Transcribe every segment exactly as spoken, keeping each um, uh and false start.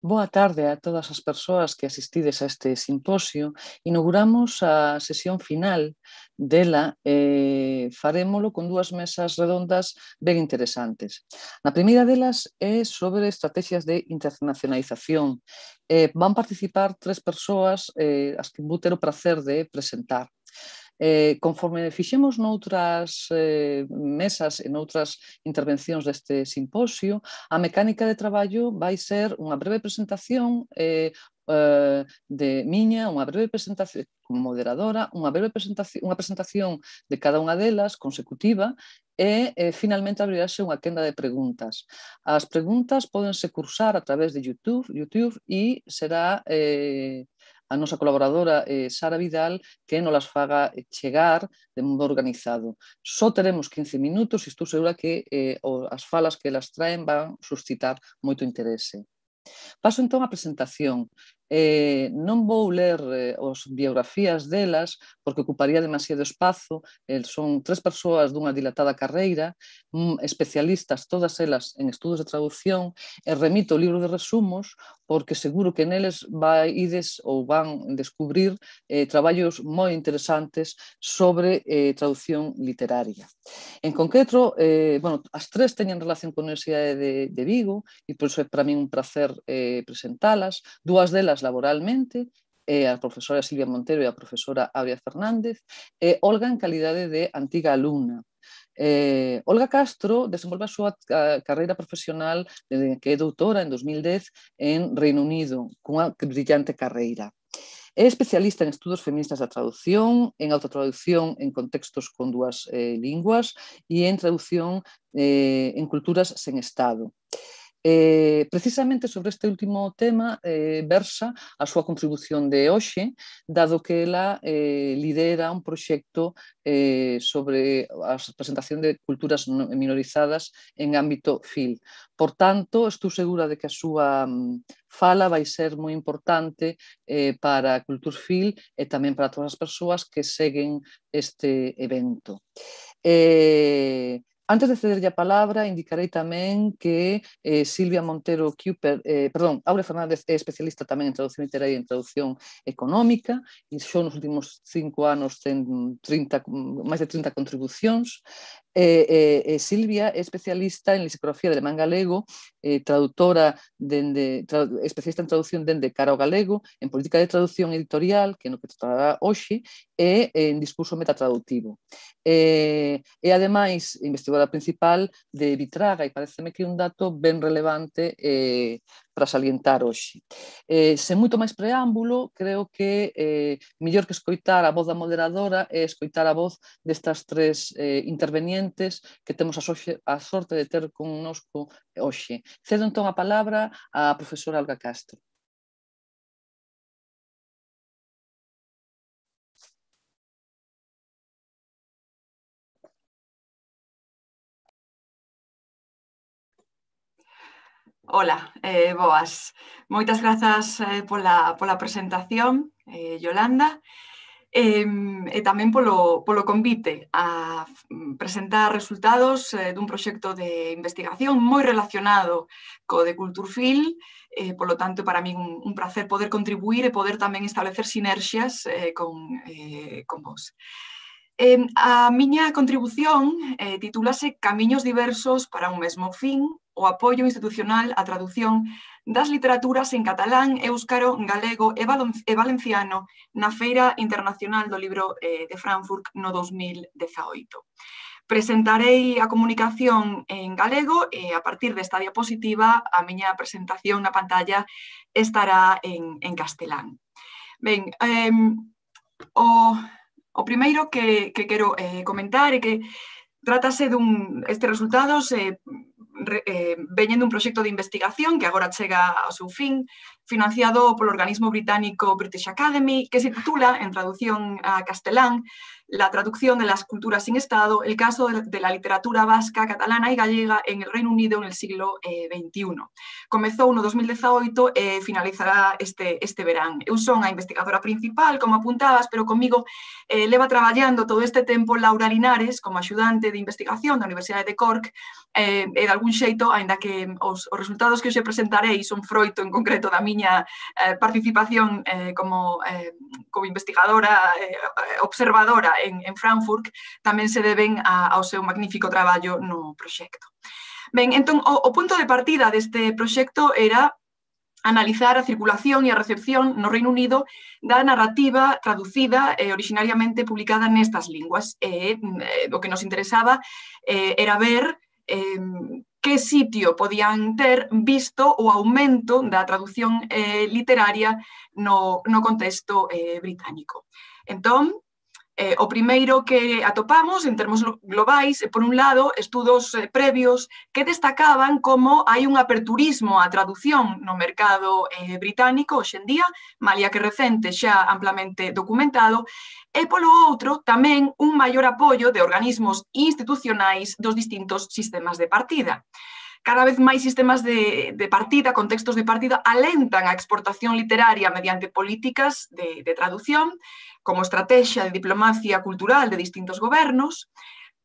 Boa tarde a todas as persoas que asistides a este simposio. Inauguramos a sesión final dela e farémolo con dúas mesas redondas ben interesantes. Na primeira delas é sobre estrategias de internacionalización. Eh, van participar tres persoas eh, as que vou ter o prazer de presentar. Eh, conforme fixemos noutras eh, mesas e noutras intervencións deste simposio, a mecánica de traballo vai ser unha breve presentación eh, eh, de miña, unha breve presentación como moderadora, unha breve presentación, unha presentación de cada unha delas consecutiva e eh, finalmente abrirase unha quenda de preguntas. As preguntas pódense cursar a través de YouTube, YouTube e será eh, a nosa colaboradora eh, Sara Vidal que nos las faga chegar de modo organizado. Só teremos quince minutos e estou segura que eh, as falas que elas traen van suscitar moito interese. Paso entón á presentación. Eh, non vou ler eh, as biografías delas porque ocuparía demasiado espazo. Eh, son tres persoas dunha dilatada carreira, mm, especialistas todas elas en estudos de traducción, e remito o libro de resumos porque seguro que neles vaides ou van descubrir eh, traballos moi interesantes sobre eh, traducción literaria. En concreto, eh, bueno, as tres teñen relación con a Universidade de, de Vigo e por iso é para min un placer eh, presentalas. Dúas delas laboralmente, eh, a profesora Silvia Montero e a profesora Aurea Fernández, e Olga en calidade de antiga alumna. Eh, Olga Castro desenvolve a súa a, carreira profesional desde que é doutora en dos mil dez en Reino Unido, cunha brillante carreira. É especialista en estudos feministas da traducción, en autotraducción en contextos con dúas eh, linguas e en traducción eh, en culturas sen Estado. Eh, precisamente sobre este último tema eh, versa a súa contribución de hoxe, dado que ela eh, lidera un proxecto eh, sobre a presentación de culturas minorizadas en ámbito F I L. Por tanto, estou segura de que a súa fala vai ser moi importante eh, para a Cultur F I L e tamén para todas as persoas que seguen este evento. Eh, Antes de cederlle a palabra, indicarei tamén que eh, Silvia Montero Cooper, eh, perdón, Aurea Fernández é especialista tamén en traducción literaria e en traducción económica e xo nos últimos cinco anos ten trinta, máis de trinta contribucións. Eh, eh, eh, Silvia é especialista en lexicografía de alemán galego, eh, traductora dende, tra, especialista en traducción dende cara ao galego, en política de traducción editorial, que é no que tratará hoxe, e en discurso metatraductivo. Eh, e ademais investigadora principal de Vitraga, e pareceme que é un dato ben relevante eh, para salientar hoxe. Eh, sen moito máis preámbulo, creo que eh, mellor que escoitar a voz da moderadora é escoitar a voz destas tres eh, intervenientes que temos a, soxe, a sorte de ter connosco hoxe. Cedo entón a palabra á profesora Olga Castro. Ola, eh, boas. Moitas grazas eh, pola, pola presentación, eh, Yolanda, eh, e tamén polo, polo convite a presentar resultados eh, dun proxecto de investigación moi relacionado co de Cultur F I L, eh, polo tanto, para min un, un placer poder contribuir e poder tamén establecer sinerxias eh, con, eh, con vos. Eh, a miña contribución eh, titúlase Camiños diversos para un mesmo fin, o apoio institucional á traducción das literaturas en catalán, éuscaro, galego e valenciano na Feira Internacional do Libro eh, de Frankfurt no dos mil dezaoito. Presentarei a comunicación en galego e a partir desta diapositiva a miña presentación na pantalla estará en, en castelán. Ben, eh, o, o primeiro que, que quero eh, comentar é que trátase dun, estes resultados eh, Eh, veñen dun proxecto de investigación que agora chega ao seu fin, financiado polo organismo británico British Academy, que se titula, en traducción a castelán, la traducción de las culturas sin Estado, el caso de la literatura vasca, catalana y gallega en el Reino Unido en el siglo veintiuno. Comezou no dos mil dezaoito e finalizará este, este verán. Eu son a investigadora principal, como apuntabas, pero comigo eh, leva traballando todo este tempo Laura Linares como axudante de investigación da Universidade de Cork eh, e de algún xeito, aínda que os, os resultados que hoxe presentarei son froito en concreto da miña eh, participación eh, como, eh, como investigadora eh, observadora en, en Frankfurt, tamén se deben a, ao seu magnífico traballo no proxecto. Ben, entón, o, o punto de partida deste proxecto era analizar a circulación e a recepción no Reino Unido da narrativa traducida e originariamente publicada nestas linguas. E eh, o que nos interesaba eh, era ver eh, que sitio podían ter visto o aumento da traducción eh, literaria no, no contexto eh, británico. Entón, Eh, o primeiro que atopamos en termos globais, por un lado, estudos eh, previos que destacaban como hai un aperturismo á traducción no mercado eh, británico hoxe en día, malia que recente xa amplamente documentado, e polo outro tamén un maior apoio de organismos institucionais dos distintos sistemas de partida. Cada vez máis sistemas de, de partida, contextos de partida, alentan a exportación literaria mediante políticas de, de traducción, como estrategia de diplomacia cultural de distintos gobernos.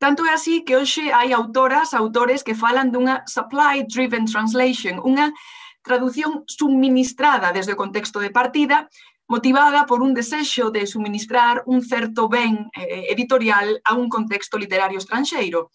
Tanto é así que hoxe hai autoras, autores que falan dunha supply-driven translation, unha traducción suministrada desde o contexto de partida, motivada por un desexo de suministrar un certo ben eh, editorial a un contexto literario estranxeiro.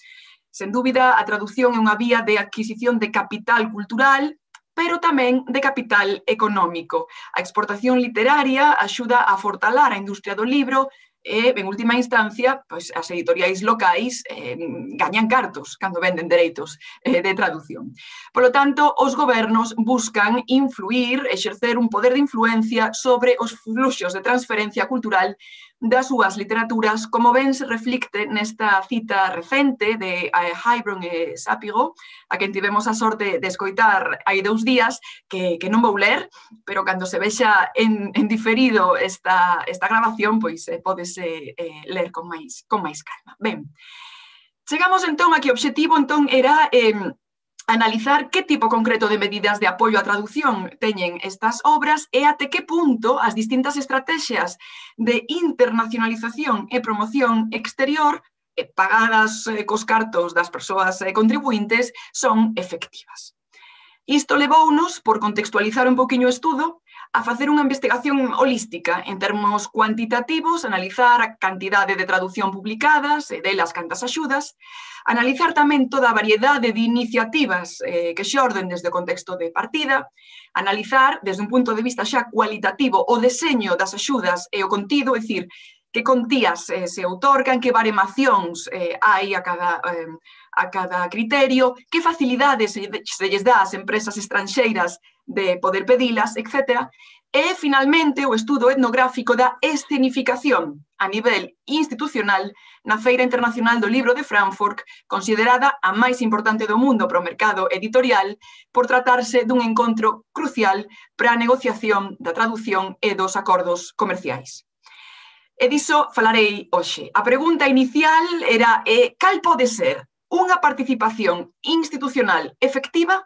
Sen dúbida, a traducción é unha vía de adquisición de capital cultural, pero tamén de capital económico. A exportación literaria axuda a fortalar a industria do libro e, en última instancia, pois, as editoriais locais eh, gañan cartos cando venden dereitos eh, de traducción. Por lo tanto, os gobernos buscan influir, exercer un poder de influencia sobre os fluxos de transferencia cultural das súas literaturas, como ben se reflicte nesta cita recente de Hybron e Sápigo, a quen tivemos a sorte de escoitar hai dous días, que, que non vou ler, pero cando se vexa en, en diferido esta, esta grabación, pois eh, podese eh, ler con máis, con máis calma. Ben, chegamos entón a que o obxectivo entón era eh, analizar que tipo concreto de medidas de apoio á traducción teñen estas obras e até que punto as distintas estrategias de internacionalización e promoción exterior pagadas cos cartos das persoas contribuintes son efectivas. Isto levounos, por contextualizar un poquinho o estudo, a facer unha investigación holística en termos cuantitativos, analizar a cantidade de traducción publicadas e delas cantas axudas, analizar tamén toda a variedade de iniciativas eh, que xorden desde o contexto de partida, analizar desde un punto de vista xa cualitativo o deseño das axudas e o contido, é dicir, que contías eh, se outorgan, que baremacións eh, hai a cada, eh, a cada criterio, que facilidades se, se lles dá ás empresas estranxeiras de poder pedilas, etcétera. E, finalmente, o estudo etnográfico da escenificación a nivel institucional na Feira Internacional do Libro de Frankfurt, considerada a máis importante do mundo para o mercado editorial, por tratarse dun encontro crucial para a negociación da tradución e dos acordos comerciais. E diso falarei hoxe. A pregunta inicial era eh, cal pode ser unha participación institucional efectiva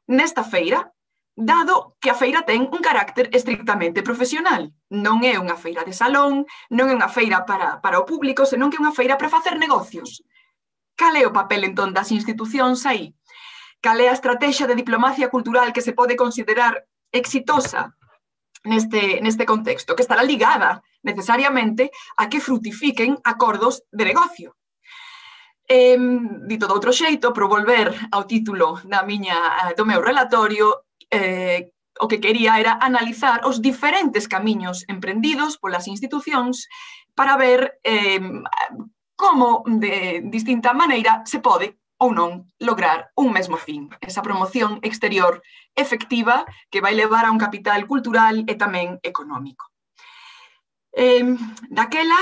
nesta feira, dado que a feira ten un carácter estrictamente profesional. Non é unha feira de salón, non é unha feira para, para o público, senón que é unha feira para facer negocios. Cal é o papel, entón, das institucións aí? Cal é a estrategia de diplomacia cultural que se pode considerar exitosa neste, neste contexto, que estará ligada necesariamente a que frutifiquen acordos de negocio? Eh, dito de outro xeito, por volver ao título da miña, do meu relatorio, eh, o que quería era analizar os diferentes camiños emprendidos polas institucións para ver eh, como de distinta maneira se pode ou non lograr un mesmo fin, esa promoción exterior efectiva que vai levar a un capital cultural e tamén económico. Eh, daquela,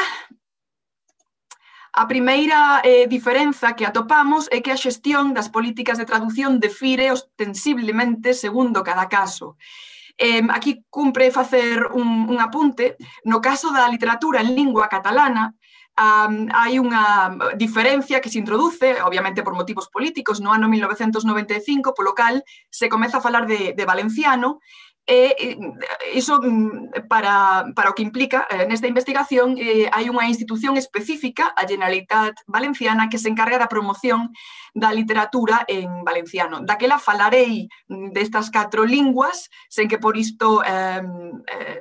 a primeira eh, diferenza que atopamos é que a xestión das políticas de traducción defire ostensiblemente segundo cada caso. Eh, aquí cumpre facer un, un apunte. No caso da literatura en lingua catalana, Um, hai unha diferencia que se introduce, obviamente por motivos políticos, no ano mil novecentos noventa e cinco, polo cal se comeza a falar de, de valenciano, e iso para, para o que implica eh, nesta investigación eh, hai unha institución específica, a Generalitat Valenciana, que se encarga da promoción da literatura en valenciano. Daquela falarei destas catro linguas, sen que por isto eh, eh,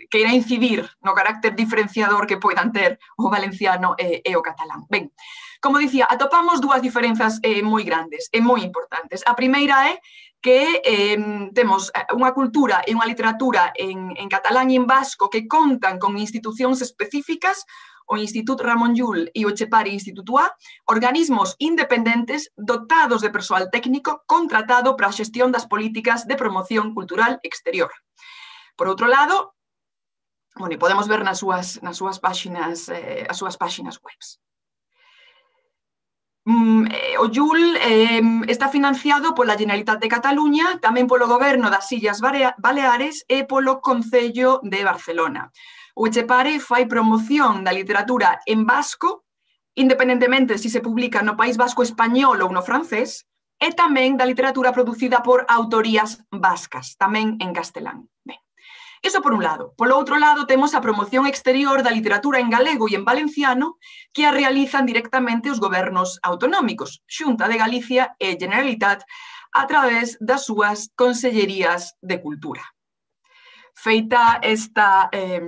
queira incidir no carácter diferenciador que poidan ter o valenciano e, e o catalán. Ben, como dicía, atopamos dúas diferenzas eh, moi grandes e moi importantes. A primeira é que eh, temos unha cultura e unha literatura en, en catalán e en vasco que contan con institucións específicas, o Institut Ramon Llull e o Etxepare Instituto A, organismos independentes dotados de persoal técnico contratado para a xestión das políticas de promoción cultural exterior. Por outro lado, bueno, podemos ver nas súas, nas súas páxinas, eh, as súas páxinas webs. Mm, eh, o Llull eh, está financiado pola Generalitat de Cataluña, tamén polo Goberno das Illas Baleares e polo Concello de Barcelona. O Etxepare fai promoción da literatura en vasco, independentemente se se publica no País Vasco español ou no francés, e tamén da literatura producida por autorías vascas, tamén en castelán. Ben. Iso por un lado. Polo outro lado, temos a promoción exterior da literatura en galego e en valenciano que a realizan directamente os gobernos autonómicos, Xunta de Galicia e Generalitat, a través das súas consellerías de cultura. Feita esta, eh,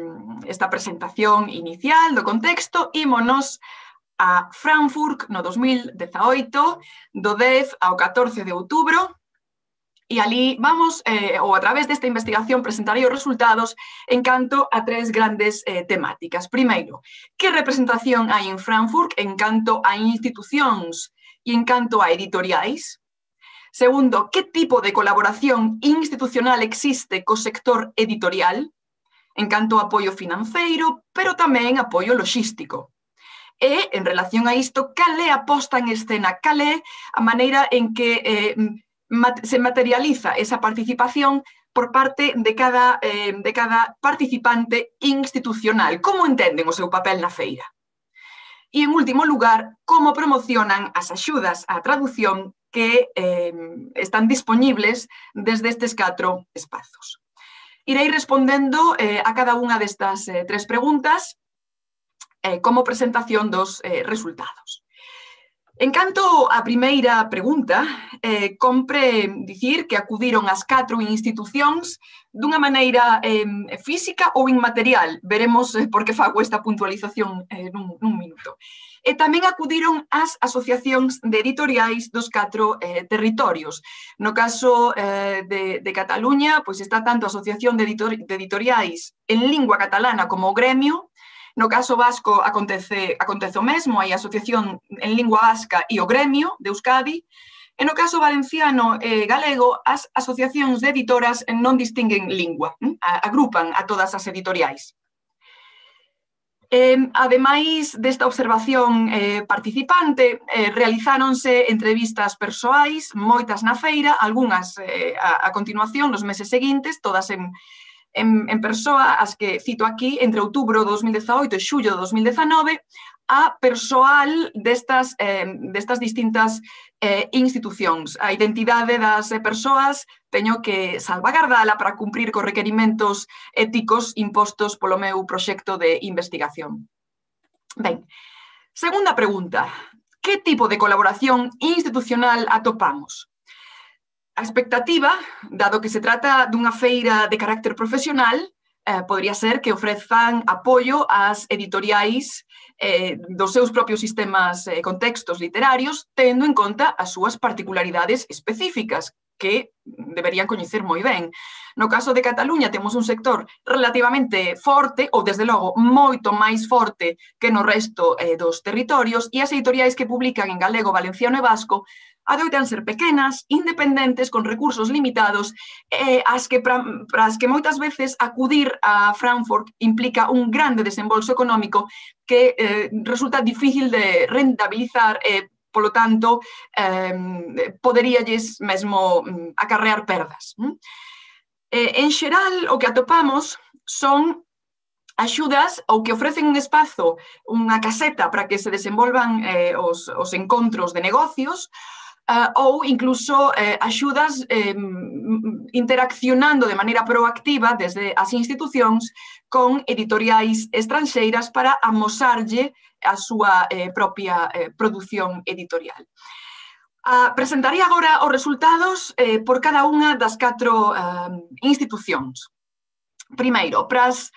esta presentación inicial do contexto, ímonos a Frankfurt no dos mil dezaoito, do dez ao catorce de outubro, e ali vamos, eh, ou a través desta investigación, presentarei os resultados en canto a tres grandes eh, temáticas. Primeiro, que representación hai en Frankfurt en canto a institucións e en canto a editoriais? Segundo, que tipo de colaboración institucional existe co sector editorial en canto a apoio financeiro, pero tamén apoio logístico? E, en relación a isto, cal é a posta en escena, cal é a maneira en que eh, se materializa esa participación por parte de cada, eh, de cada participante institucional. Como entenden o seu papel na feira? E, en último lugar, como promocionan as axudas á traducción que eh, están disponibles desde estes catro espazos. Irei respondendo eh, a cada unha destas eh, tres preguntas eh, como presentación dos eh, resultados. En canto á primeira pregunta, eh, compre dicir que acudiron as catro institucións dunha maneira eh, física ou inmaterial. Veremos eh, por que fago esta puntualización eh, nun, nun minuto. E tamén acudiron as asociacións de editoriais dos catro eh, territorios. No caso eh, de, de Cataluña, pois está tanto a Asociación de, editor, de Editoriais en lingua catalana como o Gremio. No caso vasco acontece, acontece o mesmo, hai a Asociación en Lingua Vasca e o Gremio de Euskadi, e no caso valenciano e galego, as asociacións de editoras non distinguen lingua, agrupan a todas as editoriais. Eh, ademais desta observación eh, participante, eh, realizáronse entrevistas persoais, moitas na feira, algunhas eh, a, a continuación nos meses seguintes, todas en En, en persoa, as que cito aquí, entre outubro do dos mil dezaoito e xullo do dos mil dezanove, a persoal destas, eh, destas distintas eh, institucións. A identidade das persoas teño que salvagardala para cumprir cos requerimentos éticos impostos polo meu proxecto de investigación. Ben, segunda pregunta. Que tipo de colaboración institucional atopamos? A expectativa, dado que se trata dunha feira de carácter profesional, eh, podría ser que ofrezan apoio ás editoriais eh, dos seus propios sistemas e eh, contextos literarios, tendo en conta as súas particularidades específicas, que deberían coñecer moi ben. No caso de Cataluña temos un sector relativamente forte, ou desde logo moito máis forte que no resto eh, dos territorios, e as editoriais que publican en galego, valenciano e vasco adoitan ser pequenas, independentes, con recursos limitados, eh, as que para, para as que moitas veces acudir a Frankfurt implica un grande desembolso económico que eh, resulta difícil de rentabilizar e, eh, polo tanto, eh, poderíalles mesmo acarrear perdas. Eh, en xeral, o que atopamos son axudas ou que ofrecen un espazo, unha caseta para que se desenvolvan eh, os, os encontros de negocios, Uh, ou incluso eh, axudas eh, interaccionando de maneira proactiva desde as institucións con editoriais estranxeiras para amosarlle a súa eh, propia eh, produción editorial. Uh, presentaría agora os resultados eh, por cada unha das catro uh, institucións. Primeiro, pras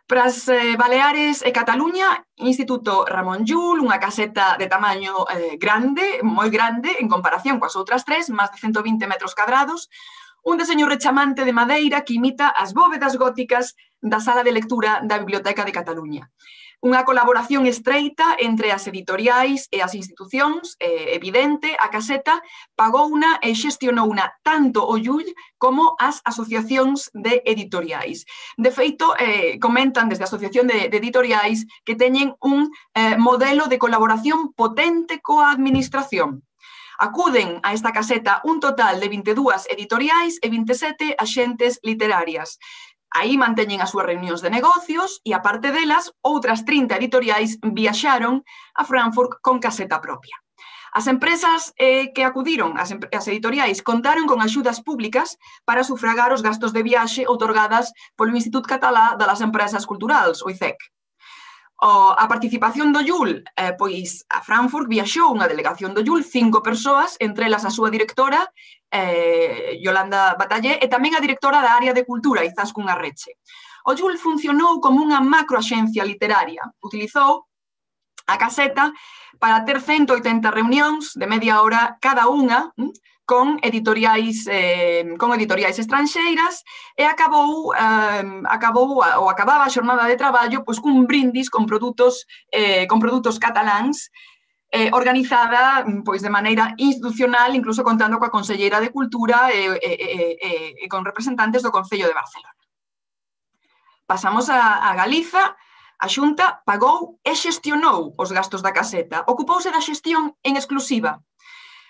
Para as eh, Baleares e Cataluña, Instituto Ramón Llull, unha caseta de tamaño eh, grande, moi grande, en comparación coas outras tres, máis de cento vinte metros cadrados, un deseño rechamante de madeira que imita as bóvedas góticas da sala de lectura da Biblioteca de Cataluña. Unha colaboración estreita entre as editoriais e as institucións, eh, evidente, a caseta pagou unha e xestionou unha tanto o Llull como as asociacións de editoriais. De feito, eh, comentan desde a Asociación de, de Editoriais que teñen un eh, modelo de colaboración potente coa administración. Acuden a esta caseta un total de vinte e dúas editoriais e vinte e sete axentes literarias. Aí manteñen as súas reunións de negocios e, aparte delas, outras trinta editoriais viaxaron a Frankfurt con caseta propia. As empresas eh, que acudiron, as, as editoriais, contaron con axudas públicas para sufragar os gastos de viaxe outorgadas polo Institut Català de las Empresas Culturals, o I C E C. O, a participación do Llull, eh, pois a Frankfurt viaxou unha delegación do Llull, cinco persoas, entre elas a súa directora, eh, Yolanda Batallé, e tamén a directora da área de cultura, Izaskun Arreche. O Llull funcionou como unha macroaxencia literaria. Utilizou a caseta para ter cento oitenta reunións de media hora cada unha, con editoriais, eh, con editoriais estranxeiras e acabou, eh, acabou ou acababa a xornada de traballo pois, cun brindis con produtos, eh, con produtos cataláns eh, organizada pois, de maneira institucional, incluso contando coa Conselleira de Cultura e, e, e, e con representantes do Concello de Barcelona. Pasamos a, a Galiza. A Xunta pagou e xestionou os gastos da caseta. Ocupouse da xestión en exclusiva.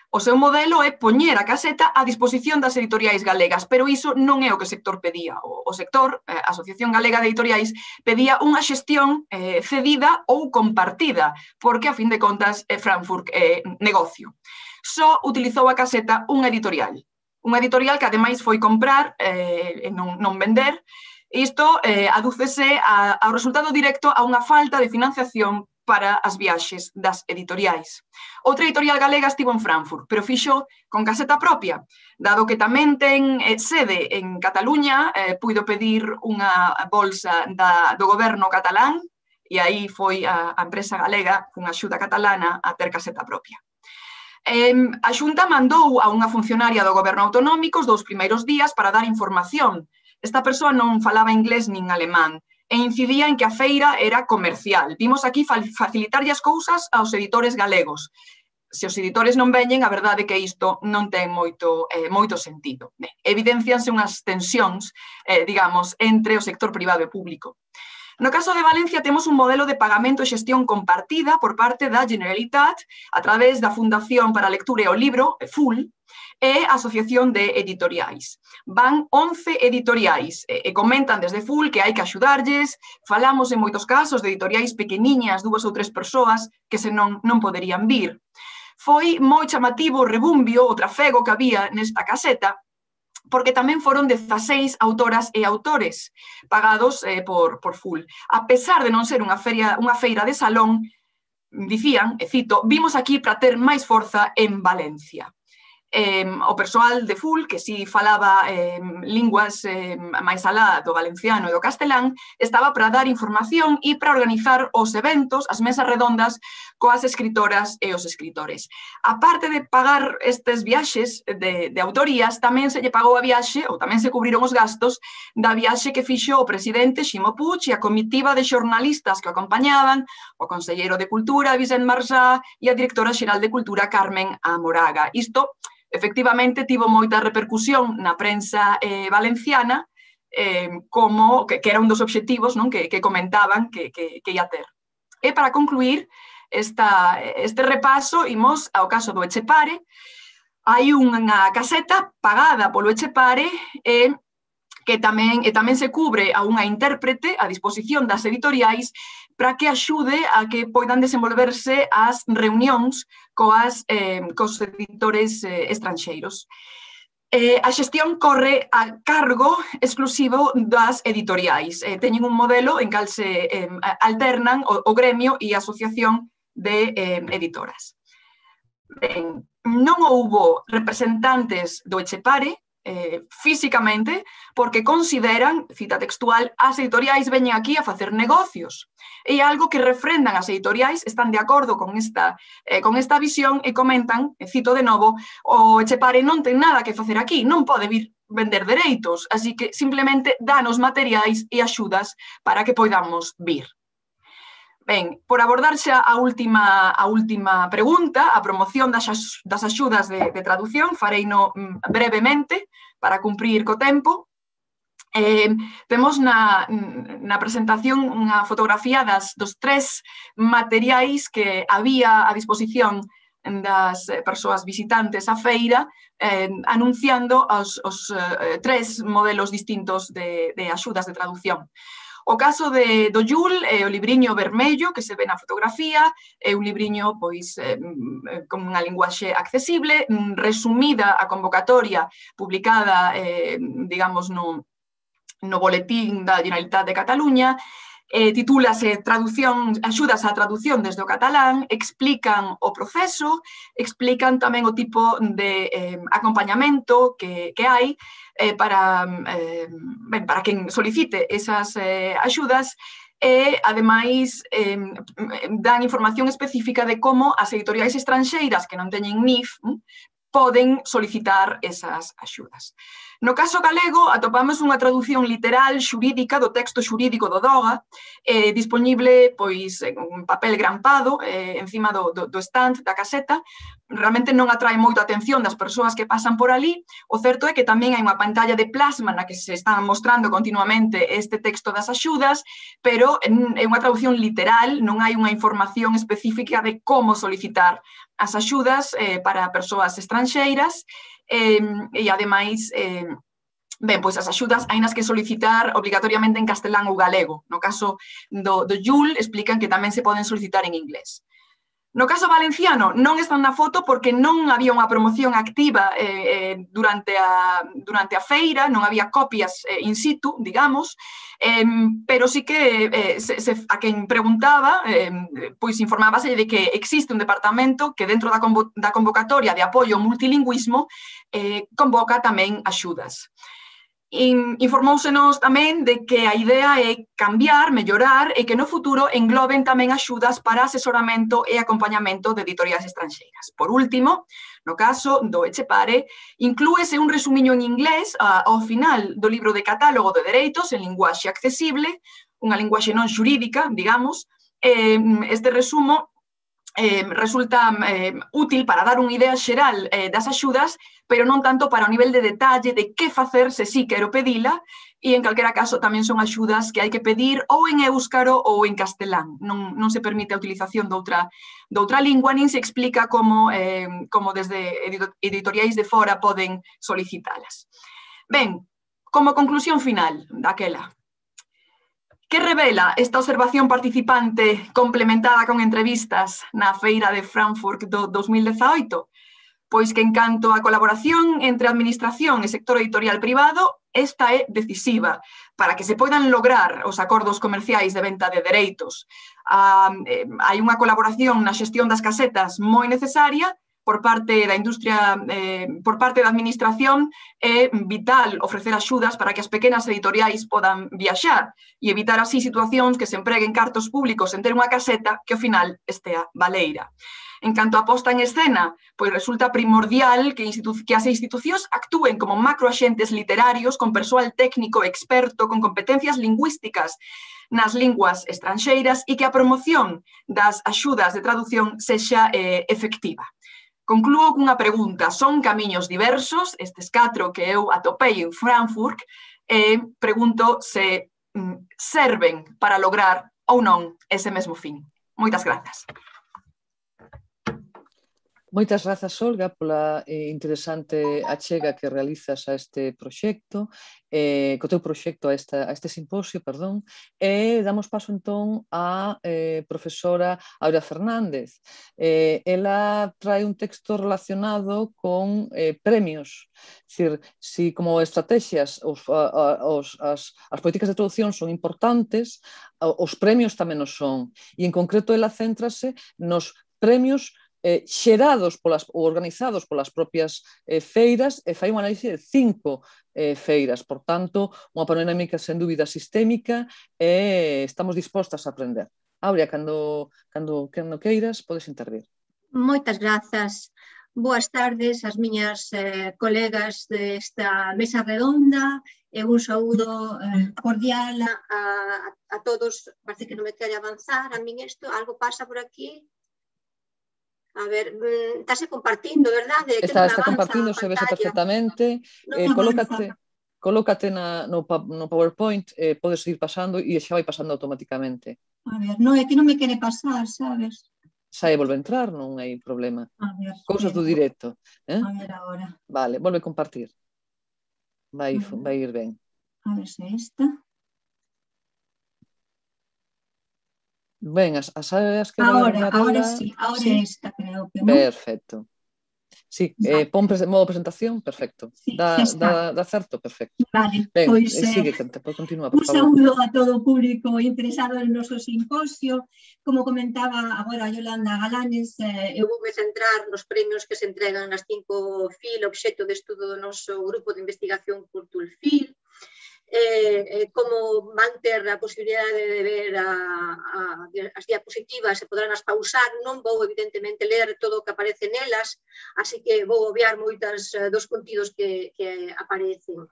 O seu modelo é poñer a caseta a disposición das editoriais galegas, pero iso non é o que o sector pedía. O sector, a Asociación Galega de Editoriais, pedía unha xestión eh, cedida ou compartida, porque, a fin de contas, eh, Frankfurt é eh, negocio. Só utilizou a caseta unha editorial. Unha editorial que, ademais, foi comprar eh, e non, non vender. Isto eh, adúcese a, ao resultado directo a unha falta de financiación para as viaxes das editoriais. Outra editorial galega estivo en Frankfurt, pero fixo con caseta propia. Dado que tamén ten eh, sede en Cataluña, eh, puido pedir unha bolsa da, do goberno catalán e aí foi a, a empresa galega, con axuda catalana, a ter caseta propia. Eh, a Xunta mandou a unha funcionaria do goberno autonómico os dous primeiros días para dar información. Esta persoa non falaba inglés nin alemán e incidía en que a feira era comercial. Vimos aquí facilitarlle as cousas aos editores galegos. Se os editores non veñen, a verdade é que isto non ten moito, eh, moito sentido. Ben, evidencianse unhas tensións, eh, digamos, entre o sector privado e público. No caso de Valencia temos un modelo de pagamento e xestión compartida por parte da Generalitat a través da Fundación para a Lectura e o Libro, F U L, e a Asociación de Editoriais. Van once editoriais e comentan desde F U L que hai que axudarlles. Falamos en moitos casos de editoriais pequeniñas, dúas ou tres persoas, que senón non poderían vir. Foi moi chamativo o rebumbio, o trafego que había nesta caseta, porque tamén foron dezaseis autoras e autores pagados eh, por, por F U L. A pesar de non ser unha feira, unha feira de salón, dicían, e cito, vimos aquí para ter máis forza en Valencia. Eh, o persoal de F U L, que si falaba eh, linguas eh, máis alá do valenciano e do castelán, estaba para dar información e para organizar os eventos, as mesas redondas coas escritoras e os escritores. A parte de pagar estes viaxes de, de autorías, tamén se lle pagou a viaxe, ou tamén se cubriron os gastos, da viaxe que fixo o presidente Ximo Puig e a comitiva de xornalistas que o acompañaban, o conselleiro de Cultura, Vicent Marsá, e a directora xeral de Cultura, Carmen Amoraga. Isto efectivamente tivo moita repercusión na prensa eh, valenciana, eh, como que, que era un dos obxectivos, non, que, que comentaban que, que, que ia ter. E para concluir esta, este repaso, imos ao caso do Etxepare. Hai unha caseta pagada polo Etxepare e que tamén, e tamén se cubre a unha intérprete a disposición das editoriais para que axude a que poidan desenvolverse as reunións coas, eh, cos editores eh, estranxeiros. Eh, a xestión corre a cargo exclusivo das editoriais. Eh, teñen un modelo en cal se eh, alternan o, o gremio e a asociación de eh, editoras. Ben, non houbo representantes do Etxepare, Eh, físicamente, porque consideran, cita textual, as editoriais veñen aquí a facer negocios. E algo que refrendan as editoriais, están de acordo con esta, eh, con esta visión e comentan, e cito de novo, o Etxepare non ten nada que facer aquí, non pode vir vender dereitos, así que simplemente danos materiais e axudas para que poidamos vir. Ben, por abordarse a última, a última pregunta, a promoción das, das axudas de, de traducción, fareino brevemente para cumprir co tempo. Eh, temos na, na presentación unha fotografía das, dos tres materiais que había a disposición das persoas visitantes á feira, eh, anunciando os, os eh, tres modelos distintos de, de axudas de traducción. O caso de, do Yul é o libriño vermello que se ve na fotografía, é un libriño pois, eh, con unha linguaxe accesible, resumida a convocatoria publicada, eh, digamos, no, no boletín da Generalitat de Cataluña, eh, titúlase traducción, axudas á traducción desde o catalán, explican o proceso, explican tamén o tipo de eh, acompañamento que, que hai eh, para, eh, ben, para quen solicite esas eh, axudas e, ademais, eh, dan información específica de como as editoriais estranxeiras que non teñen N I F hm, poden solicitar esas axudas. No caso galego, atopamos unha traducción literal xurídica do texto xurídico do Doga, eh, disponible pois, en un papel grampado eh, encima do, do, do stand da caseta. Realmente non atrae moito a atención das persoas que pasan por ali. O certo é que tamén hai unha pantalla de plasma na que se están mostrando continuamente este texto das axudas, pero é unha traducción literal, non hai unha información específica de como solicitar as axudas eh, para persoas estranxeiras. Eh, e, ademais, eh, ben, pois as axudas hainas que solicitar obrigatoriamente en castelán ou galego. No caso do, do Yul, explican que tamén se poden solicitar en inglés. No caso valenciano, non están na foto porque non había unha promoción activa eh, durante, a, durante a feira, non había copias eh, in situ, digamos, eh, pero sí que eh, se, se, a quen preguntaba, eh, pois informábase de que existe un departamento que dentro da, convo, da convocatoria de apoio ao multilingüismo eh, convoca tamén axudas. Informóusenos tamén de que a idea é cambiar, mellorar e que no futuro engloben tamén axudas para asesoramento e acompañamento de editoriais estranxeiras. Por último, no caso do Etxepare, inclúese un resumiño en inglés ao final do libro de catálogo de dereitos en linguaxe accesible, unha linguaxe non xurídica, digamos. Este resumo Eh, resulta eh, útil para dar unha idea xeral eh, das axudas, pero non tanto para o nivel de detalle de que facer se sí quero pedila, e en calquera caso tamén son axudas que hai que pedir ou en éuscaro ou en castelán. Non, non se permite a utilización de outra, de outra lingua, nin se explica como, eh, como desde editoriais de fora poden solicitalas. Ben, como conclusión final daquela, que revela esta observación participante complementada con entrevistas na Feira de Frankfurt do dos mil dezaoito? Pois que en canto á colaboración entre administración e sector editorial privado, esta é decisiva para que se poidan lograr os acordos comerciais de venta de dereitos. Ah, eh, hai unha colaboración na xestión das casetas moi necesaria. Por parte da industria, eh, por parte da administración, é vital ofrecer axudas para que as pequenas editoriais podan viaxar e evitar así situacións que se empreguen cartos públicos en ter unha caseta que ao final estea baleira. En canto a posta en escena, pois resulta primordial que, que as institucións actúen como macroaxentes literarios con persoal técnico experto con competencias lingüísticas nas linguas estranxeiras e que a promoción das axudas de traducción sexa eh, efectiva. Conclúo cunha pregunta. Son camiños diversos, estes catro que eu atopei en Frankfurt, e pregunto se mm, serven para lograr ou non ese mesmo fin. Moitas grazas. Moitas grazas, Olga, pola eh, interesante achega que realizas a este proxecto, eh, co teu proxecto a, esta, a este simposio, perdón, e damos paso entón á eh, profesora Aurea Fernández. Eh, ela trae un texto relacionado con eh, premios, dicir, si como estrategias os, a, a, os, as, as políticas de traducción son importantes, os premios tamén os son, e en concreto ela céntrase nos premios Eh, xerados polas, ou organizados polas propias eh, feiras e fai unha análise de cinco eh, feiras, por tanto, unha panorámica sen dúbida sistémica e estamos dispostas a aprender. Aurea, cando, cando, cando queiras, podes intervir. Moitas grazas. Boas tardes ás miñas eh, colegas desta mesa redonda e un saúdo eh, cordial a, a, a todos. Parece que non me quere avanzar a min isto, algo pasa por aquí. A ver, estáse compartindo, verdade? Está, está compartindo, se vese perfectamente. No eh, colócate, colócate na, no, no PowerPoint, eh, podes ir pasando e xa vai pasando automáticamente. A ver, non, é que non me quere pasar, sabes? Xa e volve a entrar, non hai problema. A ver, cousas do directo. Eh? A ver agora. Vale, volve a compartir. Vai, vai ir ben. A ver se esta. Ben, as, as áreas que agora, agora sí, agora sí. Esta creo que non. Perfecto. Sí, eh, pon pres modo presentación, perfecto. Sí, da, da, da certo, perfecto. Vale, ben, pois eh, sigue, eh, continúa, por un favor. saúdo a todo o público interesado en noso simposio. Como comentaba agora Yolanda Galanes, eh, eu vou me centrar nos premios que se entregan nas cinco F I L, obxecto de estudo do noso grupo de investigación Cultul F I L. Eh, eh, como van ter a posibilidade de ver a, a, as diapositivas e poderán as pausar, non vou evidentemente ler todo o que aparece nelas, así que vou obviar moitas uh, dos contidos que, que aparecen.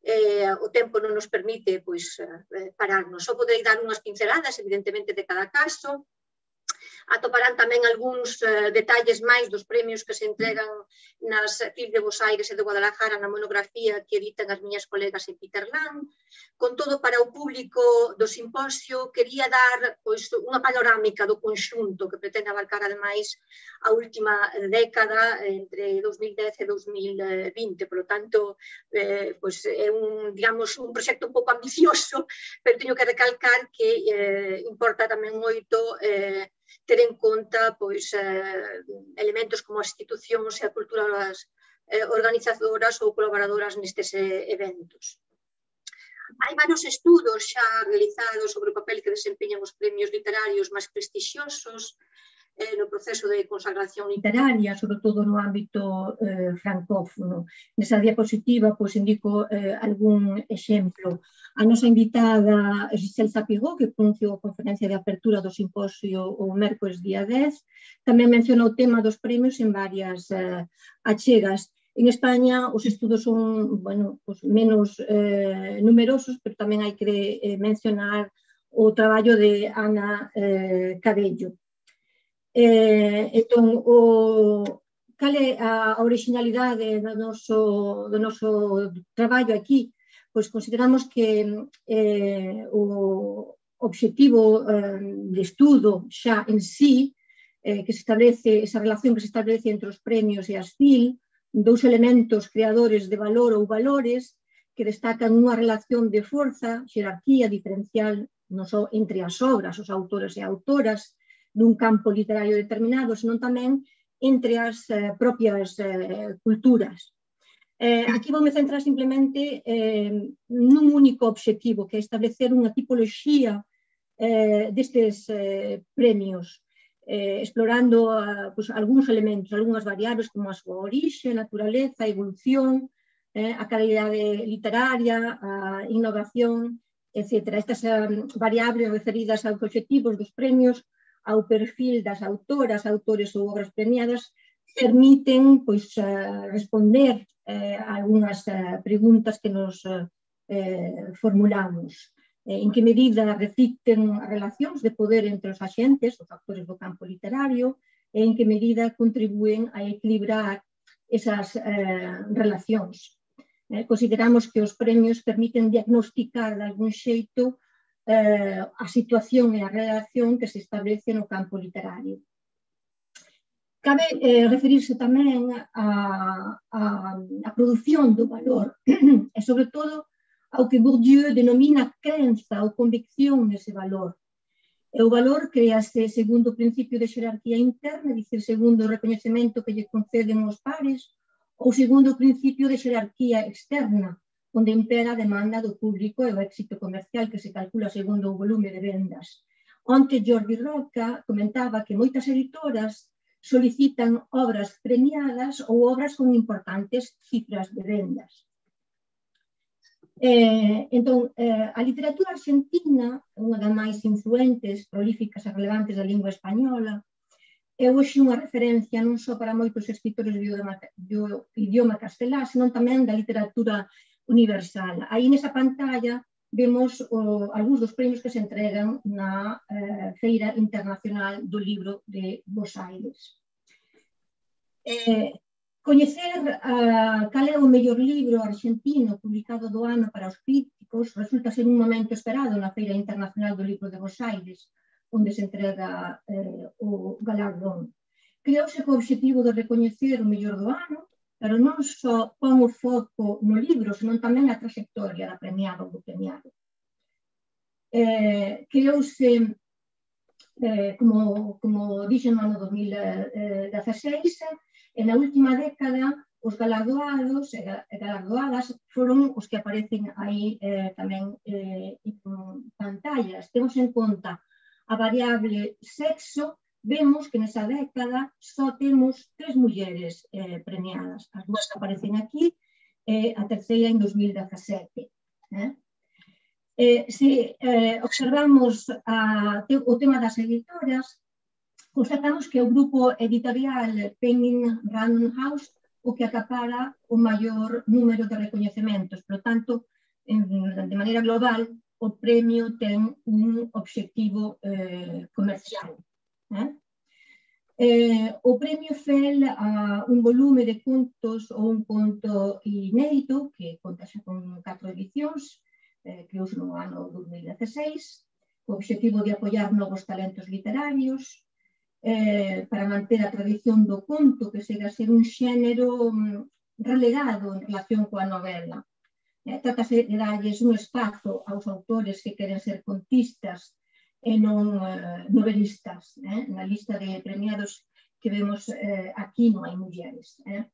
Eh, o tempo non nos permite pois, eh, pararnos. Só poderei dar unhas pinceladas, evidentemente, de cada caso. Atoparán tamén algúns uh, detalles máis dos premios que se entregan nas F I L de Bos Aires e de Guadalajara na monografía que editan as miñas colegas en Peterland. Con todo, para o público do simposio, quería dar pois, unha panorámica do conxunto que pretende abarcar, ademais, a última década entre dous mil dez e dous mil vinte. Por lo tanto, eh, pois, é un, digamos, un proxecto un pouco ambicioso, pero teño que recalcar que eh, importa tamén moito eh, ter en conta pois, eh, elementos como as institucións e a cultura das eh, organizadoras ou colaboradoras nestes eh, eventos. Hai varios estudos xa realizados sobre o papel que desempeñan os premios literarios máis prestixiosos eh, no proceso de consagración literaria, sobre todo no ámbito eh, francófono. Nesa diapositiva pois, indico eh, algún exemplo. A nosa invitada Giselle Zapigó, que pronunciou a conferencia de apertura do simposio o mércores día dez, tamén mencionou o tema dos premios en varias eh, achegas. En España os estudos son bueno, pues, menos eh, numerosos, pero tamén hai que eh, mencionar o traballo de Ana eh, Cabello. Eh, entón, o, cal é a originalidade do noso, do noso traballo aquí? Pois consideramos que eh, o obxectivo eh, de estudo xa en sí, eh, que se establece, esa relación que se establece entre os premios e as F I L, dous elementos creadores de valor ou valores que destacan unha relación de forza, xerarquía diferencial non só entre as obras, os autores e autoras dun campo literario determinado, senón tamén entre as eh, propias eh, culturas. Eh, aquí vou me centrar simplemente eh, nun único obxectivo, que é establecer unha tipoloxía eh, destes eh, premios, eh, explorando uh, pues, algúns elementos, algunhas variables como a súa orixe, naturaleza, evolución, eh, a calidade literaria, a innovación, etcétera. Estas um, variables referidas aos obxectivos dos premios, ao perfil das autoras, autores ou obras premiadas, permiten pois, uh, responder eh, a algunhas uh, preguntas que nos uh, eh, formulamos. Eh, en que medida reflicten as relacións de poder entre os axentes, os actores do campo literario, e en que medida contribúen a equilibrar esas eh, relacións. Eh, consideramos que os premios permiten diagnosticar de algún xeito eh, a situación e a relación que se establece no campo literario. Cabe eh, referirse tamén a, a, a produción do valor e, sobre todo, ao que Bourdieu denomina crenza ou convicción nese valor. E o valor créase segundo o principio de xerarquía interna, dicir, segundo o recoñecemento que lle conceden os pares, ou segundo o principio de xerarquía externa, onde impera a demanda do público e o éxito comercial que se calcula segundo o volume de vendas. Onte Jordi Roca comentaba que moitas editoras solicitan obras premiadas ou obras con importantes cifras de vendas. Eh, entón, eh, a literatura argentina, unha das máis influentes, prolíficas e relevantes da lingua española, é hoxe unha referencia non só para moitos escritores do idioma, do idioma castelá, senón tamén da literatura universal. Aí nesa pantalla vemos o, algúns dos premios que se entregan na eh, Feira Internacional do Libro de Bos Aires. Eh, Coñecer uh, cal é o mellor libro argentino publicado do ano para os críticos resulta ser un momento esperado na Feira Internacional do Libro de Bos Aires, onde se entrega eh, o galardón. Creouse co obxectivo de recoñecer o mellor do ano, pero non só pon o foco no libro, senón tamén a trayectoria da premiada ou do premiado. Eh, creouse, eh, como, como dixen no ano dos mil dezaseis, e na última década os galardoados e galardoadas foron os que aparecen aí eh, tamén eh, en pantallas. Temos en conta a variable sexo, vemos que nesa década só temos tres mulleres eh, premiadas. As dúas que aparecen aquí, e eh, a terceira en dos mil dezasete. Eh? Eh, se eh, observamos a, te, o tema das editoras, constatamos que o grupo editorial Penguin Random House o que acapara o maior número de recoñecementos. Por tanto, en, de maneira global, o premio ten un obxectivo eh, comercial. Eh? Eh, o premio fel a un volume de contos ou un conto inédito, que conta xa con catro edicións, eh, que uso no ano dos mil dezaseis, co obxectivo de apoiar novos talentos literarios, Eh, para manter a tradición do conto, que segue a ser un xénero mm, relegado en relación coa novela. Eh, Trátase de darlles un espazo aos autores que queren ser contistas e non eh, novelistas. Eh? Na lista de premiados que vemos eh, aquí non hai mulleres. Eh?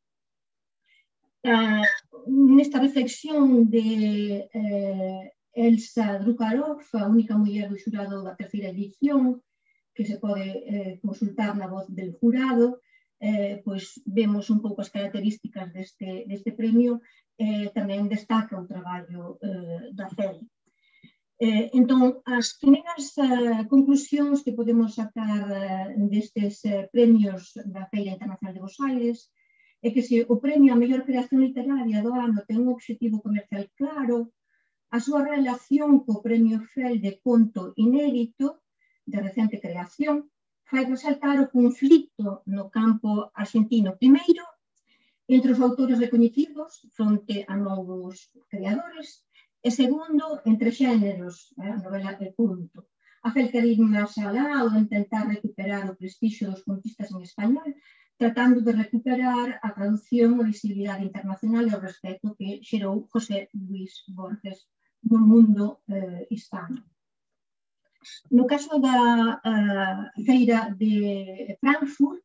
Eh, nesta reflexión de eh, Elsa Drukarov, a única muller do xurado da terceira edición, que se pode eh, consultar na voz del jurado, eh, pois vemos un pouco as características deste, deste premio, eh, tamén destaca o traballo eh, da F E L. Eh, entón, as primeiras eh, conclusións que podemos sacar eh, destes eh, premios da Feira Internacional de Bos Aires é que se o premio a mellor creación literaria do ano ten un obxectivo comercial claro, a súa relación co premio F E L de conto inédito de recente creación, fai resaltar o conflito no campo argentino, primeiro, entre os autores recoñecidos fronte a novos creadores, e segundo, entre xéneros, eh, novela e conto. A F E L quer ir máis alá ou intentar recuperar o prestixio dos contistas en español, tratando de recuperar a traducción e visibilidade internacional e o respeto que xerou José Luis Borges no mundo eh, hispano. No caso da uh, feira de Frankfurt,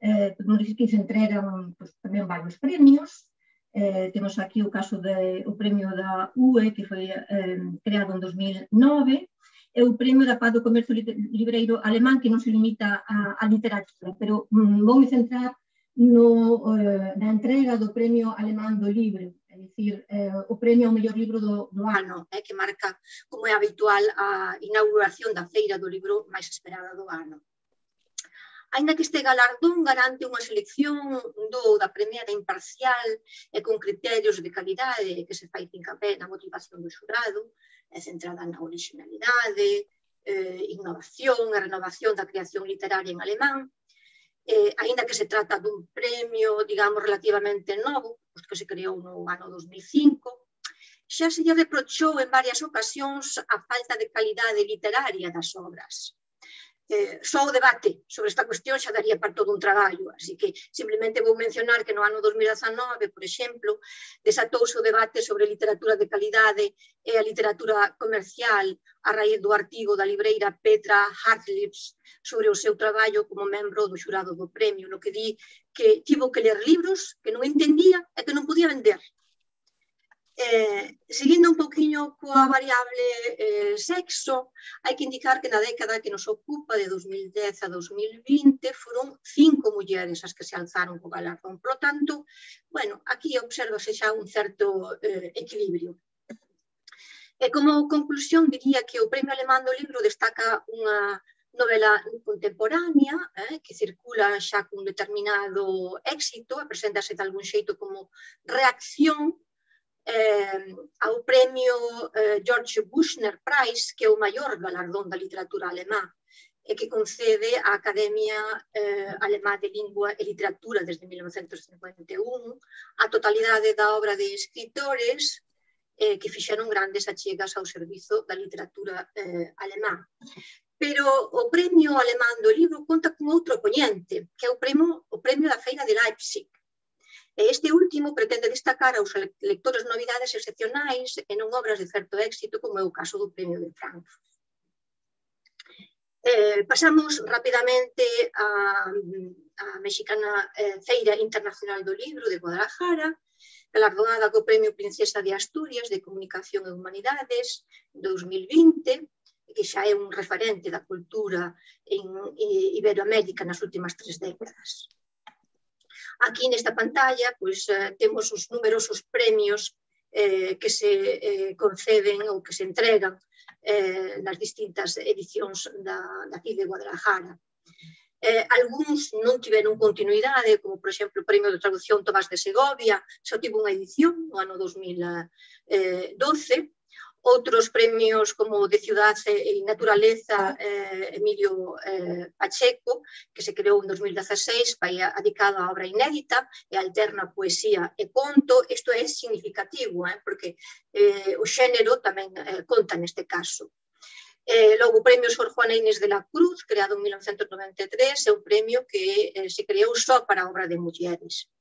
eh, podemos dicir que se entregan pues, tamén varios premios. Eh, temos aquí o caso do premio da U E, que foi eh, creado en dos mil nove, e o premio da Paz do Comercio Libreiro Alemán, que non se limita a, a literatura, pero mm, vou me centrar no, eh, na entrega do premio alemán do libro, é dicir, eh, o premio ao mellor libro do, do ano, eh, que marca, como é habitual, a inauguración da feira do libro máis esperada do ano. Ainda que este galardón garante unha selección do da premiada imparcial e con criterios de calidade que se fai fincapé na motivación do xurado, é centrada na originalidade, eh, innovación e renovación da creación literaria en alemán, Eh, ainda que se trata dun premio, digamos, relativamente novo, que se creou no ano dos mil cinco, xa se lle reprochou en varias ocasións a falta de calidade literaria das obras. Eh, só o debate sobre esta cuestión xa daría para todo un traballo, así que simplemente vou mencionar que no ano dos mil dezanove, por exemplo, desatouse o debate sobre literatura de calidade e a literatura comercial a raíz do artigo da libreira Petra Hartlips sobre o seu traballo como membro do xurado do premio, no que di que tivo que ler libros que non entendía e que non podía vender. Eh, seguindo un poquinho coa variable eh, sexo, hai que indicar que na década que nos ocupa de dos mil dez a dos mil vinte foron cinco mulleres as que se alzaron co galardón. Por lo tanto, bueno, aquí observase xa un certo eh, equilibrio. E como conclusión diría que o Premio Alemán do Libro destaca unha novela contemporánea eh, que circula xa cun determinado éxito, e preséntase de algún xeito como reacción Eh, ao premio eh, George Büchner Prize, que é o maior galardón da literatura alemá e que concede a Academia eh, Alemá de Lingua e Literatura desde mil novecentos cincuenta e un a totalidade da obra de escritores eh, que fixeron grandes achegas ao servizo da literatura eh, alemá. Pero o Premio Alemán do Libro conta con outro poñente, que é o premio, o premio da Feira de Leipzig. Este último pretende destacar aos lectores novidades excepcionais e non obras de certo éxito, como é o caso do Premio de Frankfurt. Eh, pasamos rapidamente á mexicana eh, Feira Internacional do Libro de Guadalajara, galardonada co Premio Princesa de Asturias de Comunicación e Humanidades dos mil vinte, que xa é un referente da cultura en Iberoamérica nas últimas tres décadas. Aquí nesta pantalla pois, eh, temos os numerosos premios eh, que se eh, conceden ou que se entregan eh, nas distintas edicións da, da C I D de Guadalajara. Eh, algúns non tiveron continuidade, como por exemplo o Premio de Traducción Tomás de Segovia, só tivo unha edición no ano dos mil doce. Outros premios como de Ciudad e Naturaleza eh, Emilio eh, Pacheco, que se creou en dos mil dieciséis, vai dedicado a obra inédita e alterna poesía e conto. Isto é significativo, eh, porque eh, o xénero tamén eh, conta neste caso. Eh, logo, o Premio Sor Juana Inés de la Cruz, creado en mil novecentos noventa e tres, é un premio que eh, se creou só para a obra de mulleres.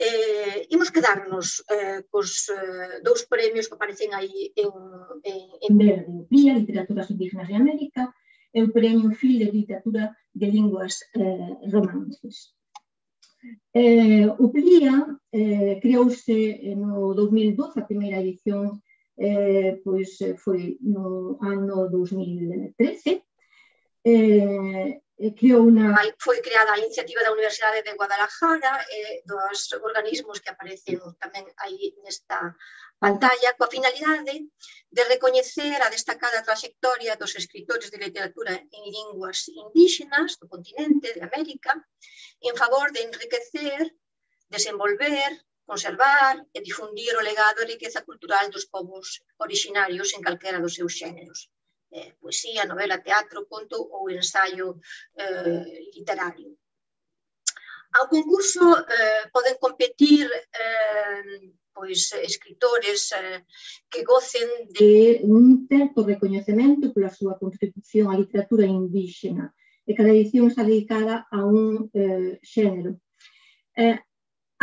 Eh, imos quedarnos eh, cos eh, dous premios que aparecen aí en, en, en verde, o P R I A, Literaturas Indígenas de América, e o Premio Fil de Literatura de Linguas eh, Romances. Eh, o P R I A eh, creouse no dos mil doce, a primeira edición eh, pois foi no ano dos mil trece. Eh, Creou una... Foi creada a iniciativa da Universidade de Guadalajara e dos organismos que aparecen tamén aí nesta pantalla, coa finalidade de recoñecer a destacada trayectoria dos escritores de literatura en linguas indígenas do continente de América en favor de enriquecer, desenvolver, conservar e difundir o legado e riqueza cultural dos povos orixinarios en calquera dos seus xéneros. Eh, poesía, novela, teatro, conto ou ensaio eh, literario. Ao concurso eh, poden competir eh, pois, escritores eh, que gocen de un certo recoñecemento pola súa contribución á literatura indígena, e cada edición está dedicada a un eh, xénero. Eh,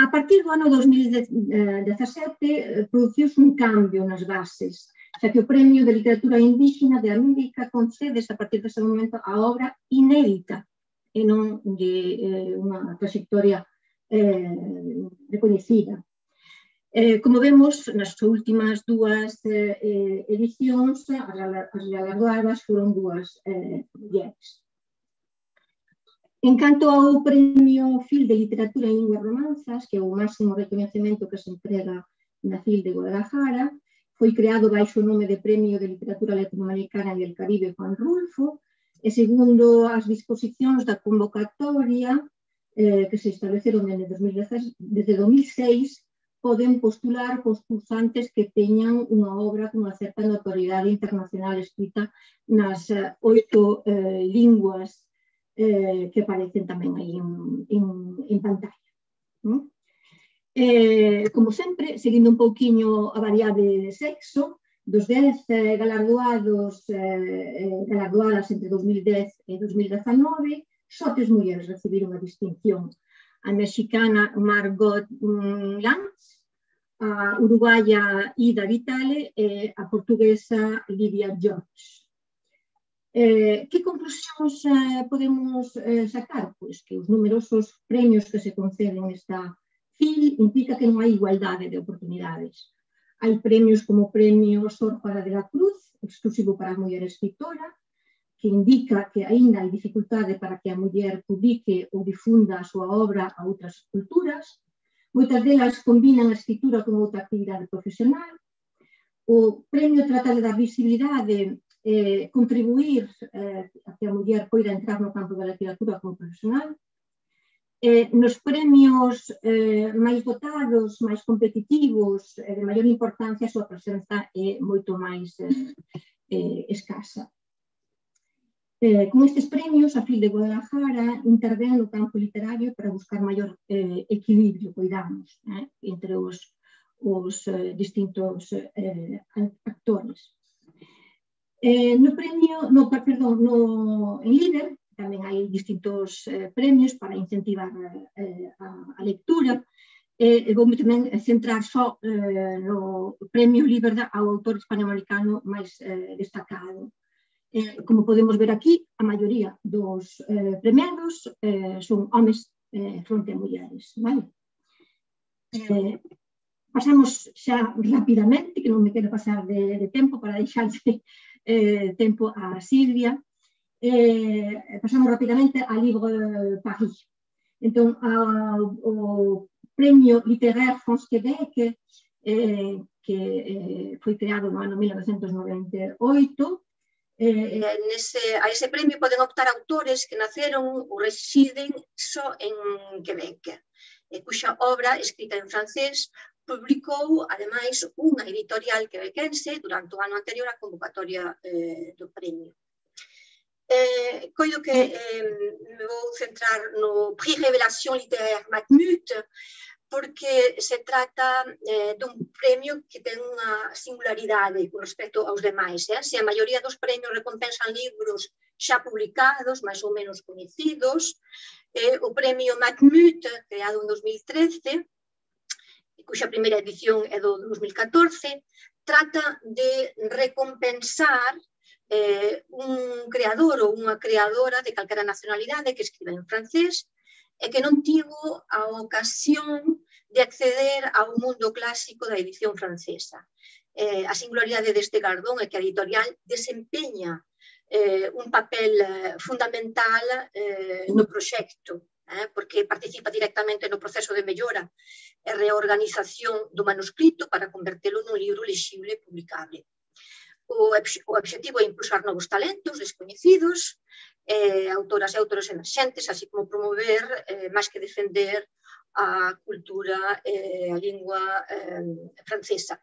a partir do ano dos mil dezasete eh, produciuse un cambio nas bases, xa que o Premio de Literatura Indígena de América concedes a partir dese momento a obra inédita e non de eh, unha trayectoria eh, recoñecida. Eh, como vemos, nas últimas dúas eh, edicións, as galardoadas foron dúas eh, mulleres. En canto ao Premio Fil de Literatura en Linguas Romanzas, que é o máximo recoñecemento que se entrega na F I L de Guadalajara, foi creado baixo o nome de Premio de Literatura Latinoamericana e del Caribe Juan Rulfo, e segundo as disposicións da convocatoria eh, que se estableceron desde dos mil seis, poden postular concursantes que teñan unha obra con unha certa notoriedade internacional escrita nas eh, oito eh, linguas eh, que aparecen tamén aí en, en, en pantalla. ¿No? Eh, como sempre, seguindo un pouquiño a variable de sexo, dos dez eh, galardoados, eh, galardoadas entre dos mil dez e dos mil dezanove, só tres mulleres recibiron a distinción. A mexicana Margot Lanz, a uruguaya Ida Vitale e a portuguesa Lidia George. Eh, que conclusións eh, podemos eh, sacar? Pois que os numerosos premios que se conceden nesta F I L implica que non hai igualdade de oportunidades. Hai premios como o premio Sor Juana de la Cruz, exclusivo para a muller escritora, que indica que aínda hai dificultade para que a muller publique ou difunda a súa obra a outras culturas. Moitas delas combinan a escritura con outra actividade profesional. O premio trata de dar visibilidade, eh, contribuir eh, a que a muller poida entrar no campo da literatura como profesional. Eh, nos premios eh, máis votados, máis competitivos, eh, de maior importancia, a súa presenza é moito máis eh, eh, escasa. Eh, con estes premios, a F I L de Guadalajara intervén no campo literario para buscar maior eh, equilibrio, coidamos, eh, entre os, os eh, distintos eh, actores. Eh, no premio, no, perdón, no, en Líder tamén hai distintos eh, premios para incentivar eh, a, a lectura. E eh, vou tamén centrar só eh, no premio Líder ao autor hispanoamericano máis eh, destacado. Eh, como podemos ver aquí, a maioría dos eh, premiados eh, son homes eh, fronte a mulleres. Vale? Eh, pasamos xa rapidamente, que non me quero pasar de, de tempo para deixarse eh, tempo a Silvia. Eh, pasamos rapidamente a Livre Paris. Entón, ao, o Premio Literaire France-Québec, eh, que eh, foi creado no ano mil novecentos noventa e oito, Eh, nese, a ese premio poden optar autores que naceron ou residen só en Quebec, e cuxa obra, escrita en francés, publicou, ademais, unha editorial quebequense durante o ano anterior á convocatoria eh, do premio. Eh, coido que eh, me vou centrar no Prix Révélation Littéraire Matmut, porque se trata eh, dun premio que ten unha singularidade con respecto aos demais. Eh? Se a maioría dos premios recompensan libros xa publicados, máis ou menos coñecidos, eh, o premio Matmut, creado en dos mil trece, cuxa primeira edición é do dos mil catorce, trata de recompensar eh, un creador ou unha creadora de calquera nacionalidade que escribe en francés e que non tivo a ocasión de acceder ao mundo clásico da edición francesa. Eh, a singularidade deste gardón é que a editorial desempeña eh, un papel eh, fundamental eh, no proxecto, eh, porque participa directamente no proceso de mellora e reorganización do manuscrito para convertelo nun libro lexible e publicable. O obxectivo é impulsar novos talentos descoñecidos, eh, autoras e autores emerxentes, así como promover, eh, máis que defender, a cultura e eh, a lingua eh, francesa.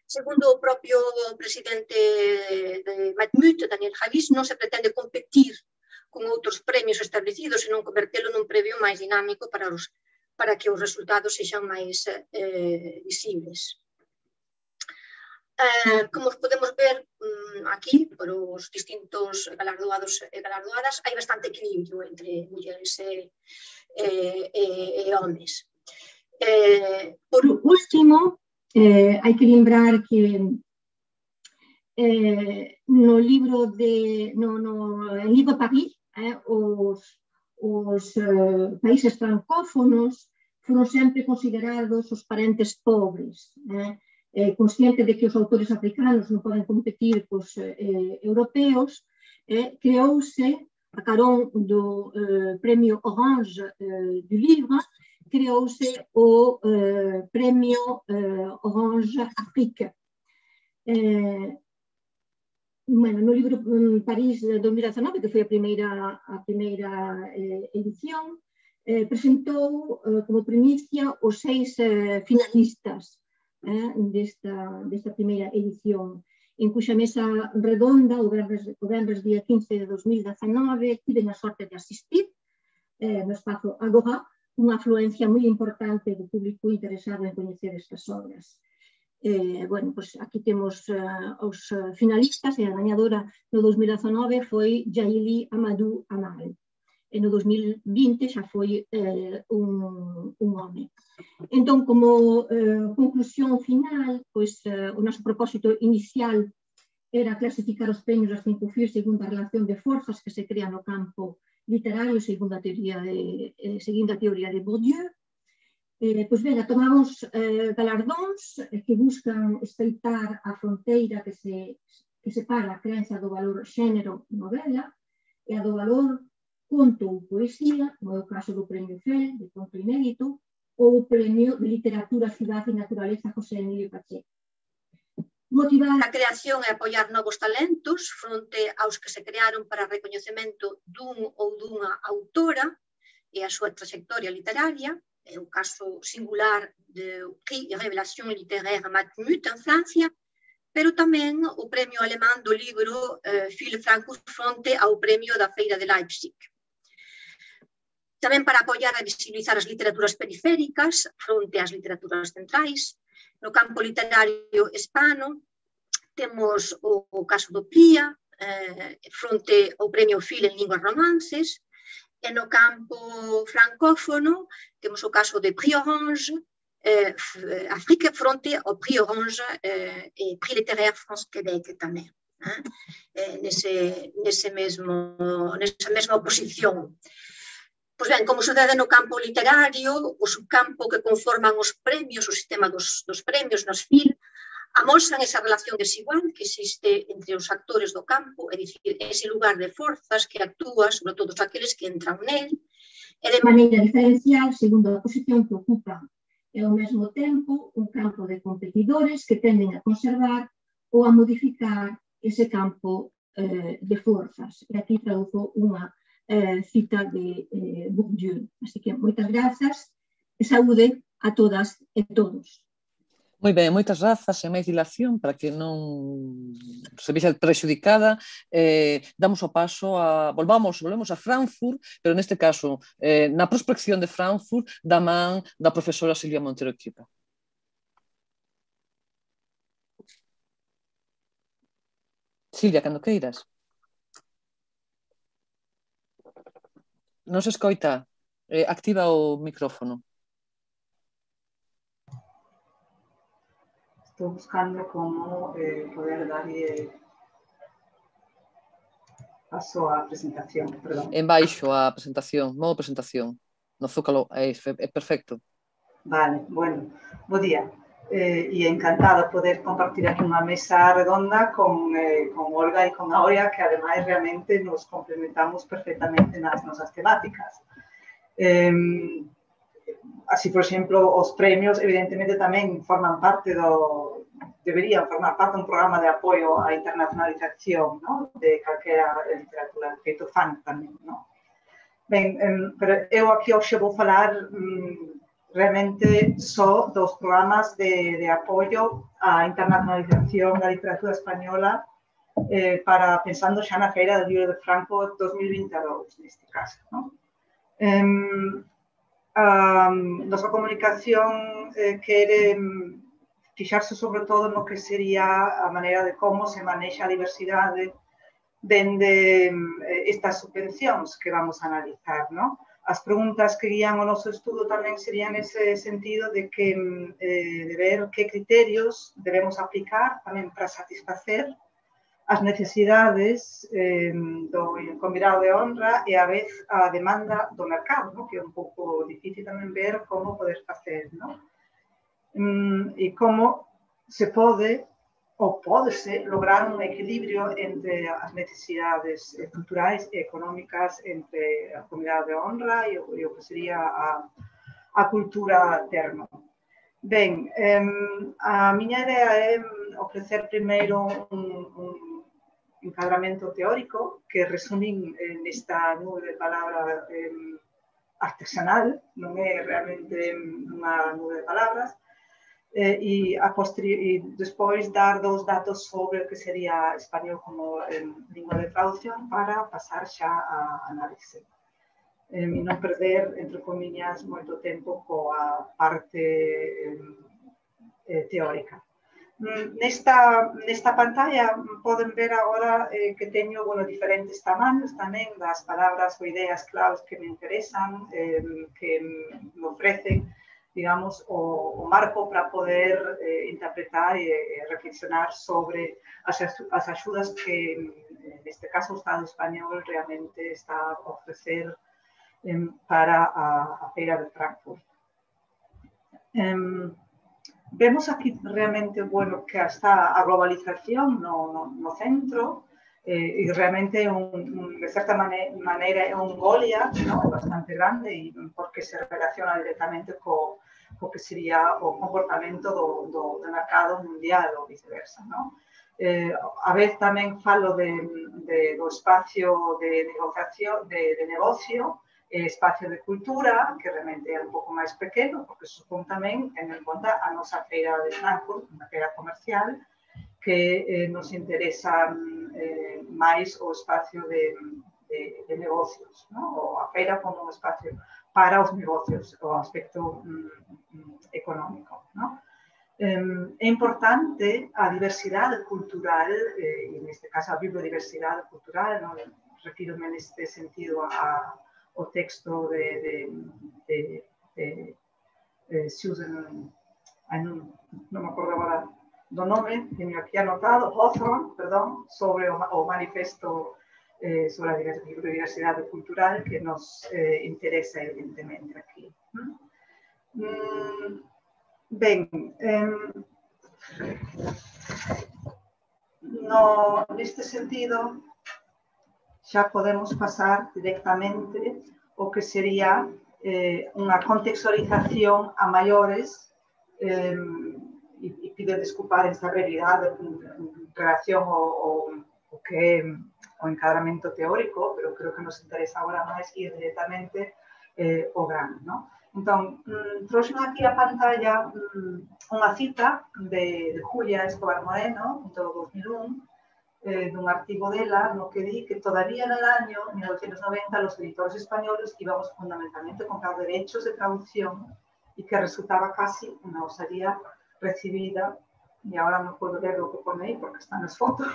Segundo o propio presidente de Matmut, Daniel Javis, non se pretende competir con outros premios establecidos, senón convertelo nun premio máis dinámico para, os, para que os resultados sexan máis eh, visibles. Eh, como podemos ver um, aquí, por os distintos galardoados e galardoadas, hai bastante equilibrio entre mulleres e, e, e, e homes. Eh, por último, eh, hai que lembrar que eh, no libro de no, no en Livre Paris, eh, os, os eh, países francófonos foron sempre considerados os parentes pobres, eh, Eh, consciente de que os autores africanos non poden competir cos eh, europeos, eh, creouse, a carón do eh, premio Orange eh, du Livre, creouse o eh, premio eh, Orange Afrique. Eh, bueno, no libro París de dos mil dezanove, que foi a primeira, a primeira eh, edición, eh, presentou eh, como primicia os seis eh, finalistas Eh, desta, desta primeira edición, en cuxa mesa redonda, o venres día quince de dos mil dezanove, tive a sorte de asistir eh, no espazo Agora, unha afluencia moi importante do público interesado en coñecer estas obras. Eh, bueno, pues aquí temos uh, os finalistas, e a gañadora no dos mil dezanove foi Jaili Amadou Amal. E no dos mil vinte xa foi eh, un, un home. Entón, como eh, conclusión final, pois, eh, o noso propósito inicial era clasificar os premios das cinco F I E segundo a relación de forzas que se crea no campo literario segundo a teoría de, eh, seguindo a teoría de Bourdieu. Eh, pois ben, tomamos eh, galardóns que buscan estreitar a fronteira que, se, que separa a creencia do valor xénero novela e a do valor conto ou poesía, como é o caso do Premio Fel, de conto inédito, ou o Premio de Literatura, Cidade e Naturaleza José Emilio Pacheco. Motivar a creación e apoiar novos talentos fronte aos que se crearon para recoñecemento dun ou dunha autora e a súa trayectoria literaria, é o caso singular do Prix de Révélation Littéraire Matmut en Francia, pero tamén o premio alemán do libro eh, Phil Francus fronte ao premio da Feira de Leipzig. Tamén para apoiar e visibilizar as literaturas periféricas fronte ás literaturas centrais. No campo literario hispano temos o, o caso do Plia, eh, fronte ao premio Phil en linguas romances, e no campo francófono temos o caso de Prix Orange, eh, Afrique fronte ao Prix Orange eh, e Prix Littéraire France-Québec tamén, eh, nese, nese mesmo, nesa mesma oposición. Pois ben, como sucede no campo literario, o subcampo que conforman os premios, o sistema dos, dos premios nos F I L, amosan esa relación desigual que existe entre os actores do campo, é dicir, ese lugar de forzas que actúa sobre todos aqueles que entran nel, e de maneira diferencial, segundo a posición que ocupan, e ao mesmo tempo un campo de competidores que tenden a conservar ou a modificar ese campo eh, de forzas. E aquí traduzo unha eh, cita de eh, Bourdieu. Así que moitas grazas e saúde a todas e todos. Moi ben, moitas grazas e máis dilación para que non se vexa prexudicada. Eh, damos o paso a... Volvamos, volvemos a Frankfurt, pero neste caso, eh, na prospección de Frankfurt, da man da profesora Silvia Montero Equipa. Silvia, cando queiras. Non se escoita. Eh, activa o micrófono. Estou buscando como eh, poder darlle paso á presentación, perdón. En baixo a presentación, modo presentación. No zócalo, é, é perfecto. Vale, bueno, bo día. Eh, e encantada poder compartir aquí unha mesa redonda con, eh, con Olga e con Aurea, que ademais realmente nos complementamos perfectamente nas nosas temáticas. Eh, Así, por exemplo, os premios, evidentemente, tamén forman parte do... deberían formar parte dun programa de apoio á internacionalización, ¿no? De calquera literatura, feito fan tamén, ¿no? Ben, um, pero eu aquí hoxe vou falar um, realmente só dos programas de, de apoio á internacionalización da literatura española eh, para pensando xa na Feira do Libro de Franco dos mil vinte e dous, neste caso, ¿no? Um, A nosa comunicación eh, quere fixarse sobre todo no que sería a maneira de como se manexa a diversidade dende eh, estas subvencións que vamos a analizar, ¿no? As preguntas que guían o noso estudo tamén serían nese sentido de que eh, de ver que criterios debemos aplicar tamén para satisfacer as necesidades eh, do convidado de honra e a vez a demanda do mercado, ¿no? Que é un pouco difícil tamén ver como poder facer, ¿no? Mm, e como se pode ou pódese lograr un equilibrio entre as necesidades culturais e económicas entre a convidado de honra e o, e o que sería a, a cultura termo. Ben, eh, a miña idea é ofrecer primeiro un, un encadramento teórico que resumín eh, nesta nube de palabra eh, artesanal, non é realmente unha nube de palabras, eh, e, a e despois dar dous datos sobre o que sería español como eh, lingua de traducción para pasar xa a análise. Eh, e non perder, entre comillas, moito tempo coa parte eh, eh, teórica. Nesta, nesta pantalla poden ver agora eh, que teño bueno, diferentes tamaños tamén das palabras ou ideas claves que me interesan, eh, que me ofrecen, digamos, o, o marco para poder eh, interpretar e, e reflexionar sobre as, as axudas que, neste caso, o Estado español realmente está a ofrecer eh, para a, a Feira de Frankfurt. Um, Vemos aquí realmente bueno, que está a globalización no, no, no centro eh, e realmente un, un, de certa mane maneira é un Goliath, ¿no? Bastante grande e porque se relaciona directamente co, co que sería o comportamento do, do, do mercado mundial ou viceversa, ¿no? Eh, a vez tamén falo de, de, do espacio de negociación, de, de negocio, espacio de cultura, que realmente é un pouco máis pequeno, porque supón tamén, ten en conta, a nosa feira de Frankfurt, unha feira comercial, que eh, nos interesa eh, máis o espacio de, de, de negocios, ¿no? O a feira como un espacio para os negocios, o aspecto mm, económico, ¿no? Eh, é importante a diversidade cultural, eh, e neste caso a biodiversidade cultural, ¿no? Refírome neste sentido a o texto de, de, de, de, de Susan, ay, no, no me acuerdo agora do nome, teño aquí anotado, Hawthorne, perdón, sobre o, o manifesto eh, sobre a biodiversidade cultural que nos eh, interesa evidentemente aquí. Mm, ben, eh, no, neste sentido, xa podemos pasar directamente o que sería eh, unha contextualización a maiores eh, e, e pido desculpar esta brevidade en relación ao, ao que é o encadramento teórico, pero creo que nos interesa agora máis ir directamente eh, ao grano, ¿no? Entón, mm, trouxe aquí a pantalla mm, unha cita de, de Julia Escobar Moreno, do dos mil un, Eh, de un artículo de ella, no que di que todavía en el año mil novecientos noventa los editores españoles íbamos fundamentalmente a comprar derechos de traducción y que resultaba casi una osadía recibida, y ahora no puedo ver lo que pone ahí porque están las fotos,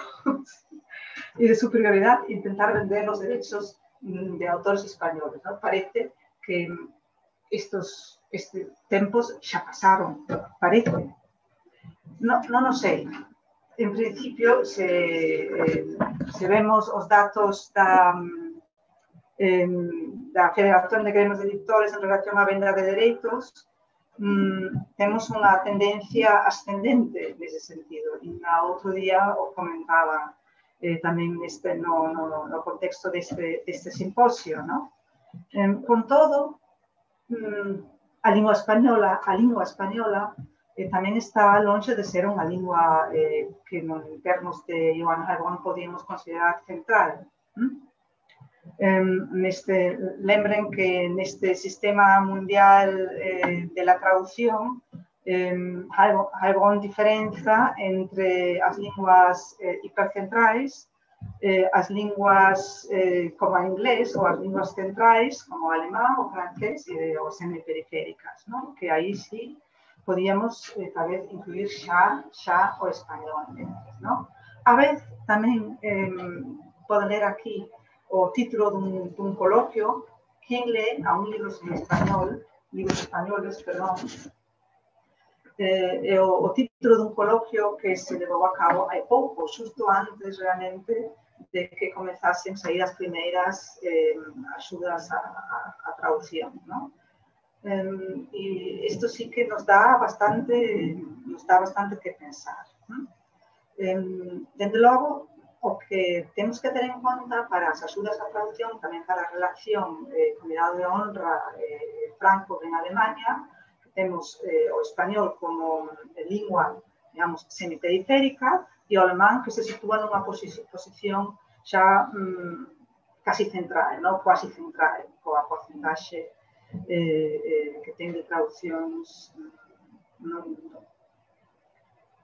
y de superioridad intentar vender los derechos de autores españoles, ¿no? Parece que estos, estos tiempos ya pasaron, parece. No, no, no sé. En principio, se, eh, se vemos os datos da, eh, da Federación de Gremios de Editores en relación á venda de dereitos, mm, temos unha tendencia ascendente nese sentido. E na outro día o comentaba eh, tamén neste, no, no, no contexto deste, deste simposio, ¿no? Eh, con todo, mm, a lingua española, a lingua española Eh, tamén está longe de ser unha lingua eh, que en termos de Joan Harvón podíamos considerar central. ¿Mm? Eh, neste, lembren que neste sistema mundial eh, de la traducción eh, Harvón diferenza entre as linguas eh, hipercentrais, eh, as linguas eh, como a inglés ou as linguas centrais como o alemán, o francés e os semiperiféricas, ¿no? Que aí sí podíamos eh, tal vez incluir xa, xa o español, ¿no? A vez tamén eh, poden ler aquí o título dun, dun coloquio, quen lee a un libro en español, libros españoles, perdón, eh, o, o título dun coloquio que se levou a cabo hai pouco, xusto antes realmente de que comezasen sair as primeiras eh, axudas a, a, a traducción, ¿no? Um, y esto sí que nos da bastante, nos da bastante que pensar, ¿no? Um, desde logo, o que temos que ter en conta para as axudas a traducción, tamén para a relación eh, Comunidade de Honra eh, Frankfurt en Alemania, que temos eh, o español como eh, lingua, digamos, semiperiférica, e o alemán que se sitúa nunha posi posición xa um, casi central, ¿no? Quasi central, coa porcentaxe Eh, eh, que ten de traduccións no mundo.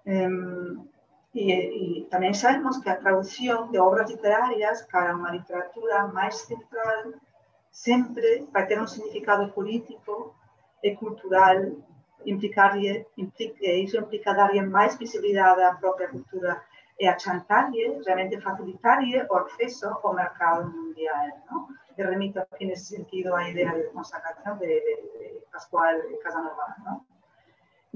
Um, e, e tamén sabemos que a traducción de obras literarias para unha literatura máis central sempre vai ter un significado político e cultural implicaría, implica, iso implica darlle máis visibilidade á propia cultura e achantarlle, realmente facilitarlle o acceso ao mercado mundial, ¿no? E remito aquí nesse sentido a idea de consagración de, de, de Pascual Casanova, ¿no?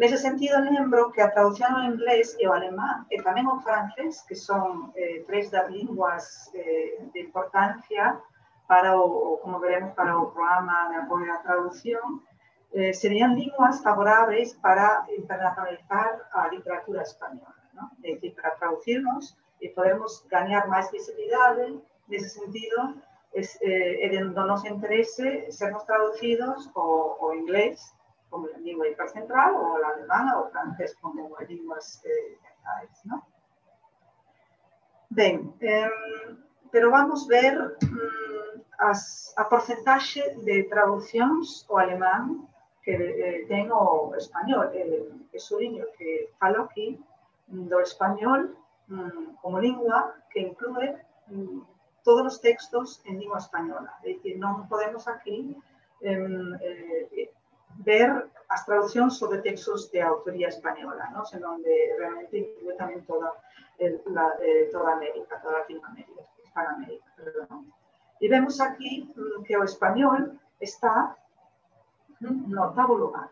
Nese sentido, lembro que a traducción ao inglés e ao alemán e tamén ao francés, que son eh, tres das linguas eh, de importancia para o, como veremos, para o programa de apoio á traducción, eh, serían linguas favoráveis para internacionalizar a literatura española, ¿no? É dicir, para traducirnos e podermos gañar máis visibilidade, nese sentido, es, eh, é do noso interese sermos traducidos ao, ao inglés como a lingua hipercentral, ou a alemana, ou francés como as linguas eh, centrais, ¿no? Ben, eh, pero vamos ver mm, as, a porcentaxe de traduccións ao alemán que eh, ten o español. Eh, que suliño que falo aquí do español mm, como lingua que inclúe mm, todos os textos en lingua española. É dicir, non podemos aquí eh, eh, ver as traduccións sobre textos de autoría española, ¿no? Senón de realmente incluye tamén toda, el, la, eh, toda América, toda Latinoamérica, Hispanoamérica, perdón. E vemos aquí mm, que o español está mm, no octavo lugar.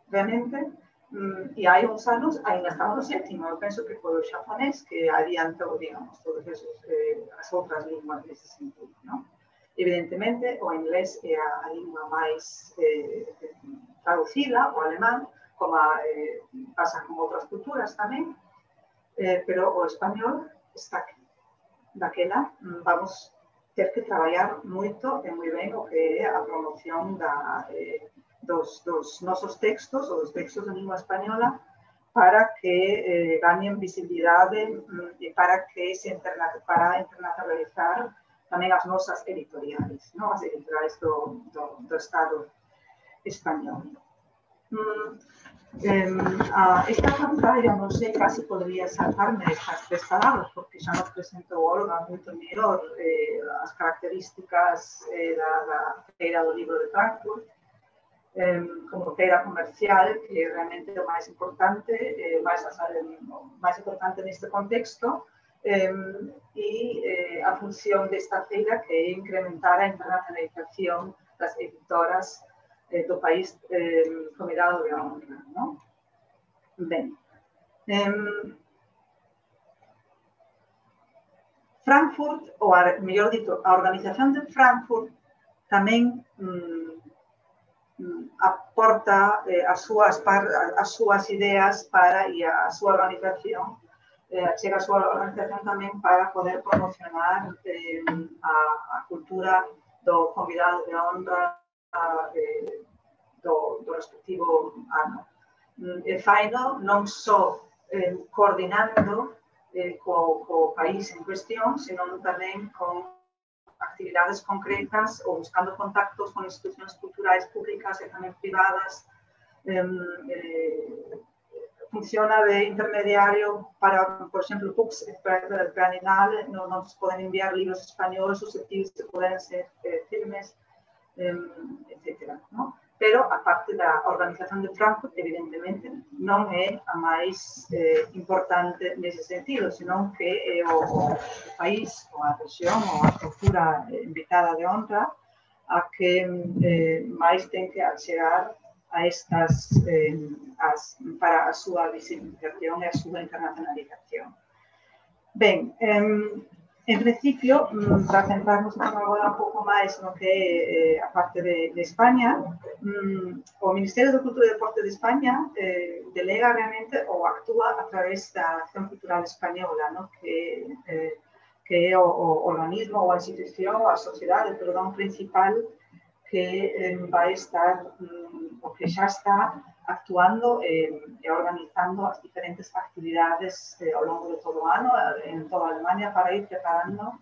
Realmente, mm, e hai uns anos, ainda estamos no sétimo, eu penso que foi o xaponés que adiantou, digamos, todas eh, as outras linguas nesse sentido, ¿no? Evidentemente, o inglés é a, a lingua máis eh, traducida, o alemán, como a, eh, pasa con outras culturas tamén, eh, pero o español está aquí. Daquela vamos ter que traballar moito e moi ben o que é a promoción da, eh, dos, dos nosos textos, ou dos textos de lingua española, para que eh, gañen visibilidade e para que se interna, para internacionalizar tamén as nosas editoriais, ¿no? As editoriais do, do, do Estado español. Mm, eh, a esta pantalla, non sei, casi podría saltarme estas tres palabras, porque xa nos presentou Olga moito mellor eh, as características eh, da, da feira do libro de Frankfurt, eh, como feira comercial, que realmente é o máis importante, eh, máis, o máis importante neste contexto, Um, e eh, a función desta feira que é incrementar a internacionalización das editoras eh, do país eh, convidado de honra, ¿no? Ben, um, Frankfurt, ou a, mellor dito, a organización de Frankfurt tamén um, aporta eh, as, súas par, as súas ideas para e a súa organización Eh, chega a súa organización tamén para poder promocionar eh, a, a cultura do convidado de honra eh, do, do respectivo ano. E faino non só eh, coordinando eh, co, co país en cuestión, senón tamén con actividades concretas ou buscando contactos con institucións culturais públicas e tamén privadas, eh, eh, funciona de intermediario para, por exemplo, Pux, para el Planinal, no nos poden enviar libros españoles susceptibles que poden ser eh, firmes, eh, etcétera, ¿no? Pero, a parte da organización de Frankfurt, evidentemente, non é a máis eh, importante nese sentido, senón que é o, o país, ou a región, ou a cultura invitada de honra, a que eh, máis ten que achegar a estas, eh, as, para a súa visibilización e a súa internacionalización. Ben, eh, en principio, para centrarnos agora un pouco máis no que é eh, a parte de, de España, um, o Ministerio de Cultura e Deporte de España eh, delega realmente ou actúa a través da Acción Cultural Española, ¿no? que, eh, que é o, o organismo ou a institución, a sociedade, perdón, principal que eh, vai estar, um, o que xa está actuando e eh, organizando as diferentes actividades eh, ao longo de todo o ano en toda a Alemania para ir preparando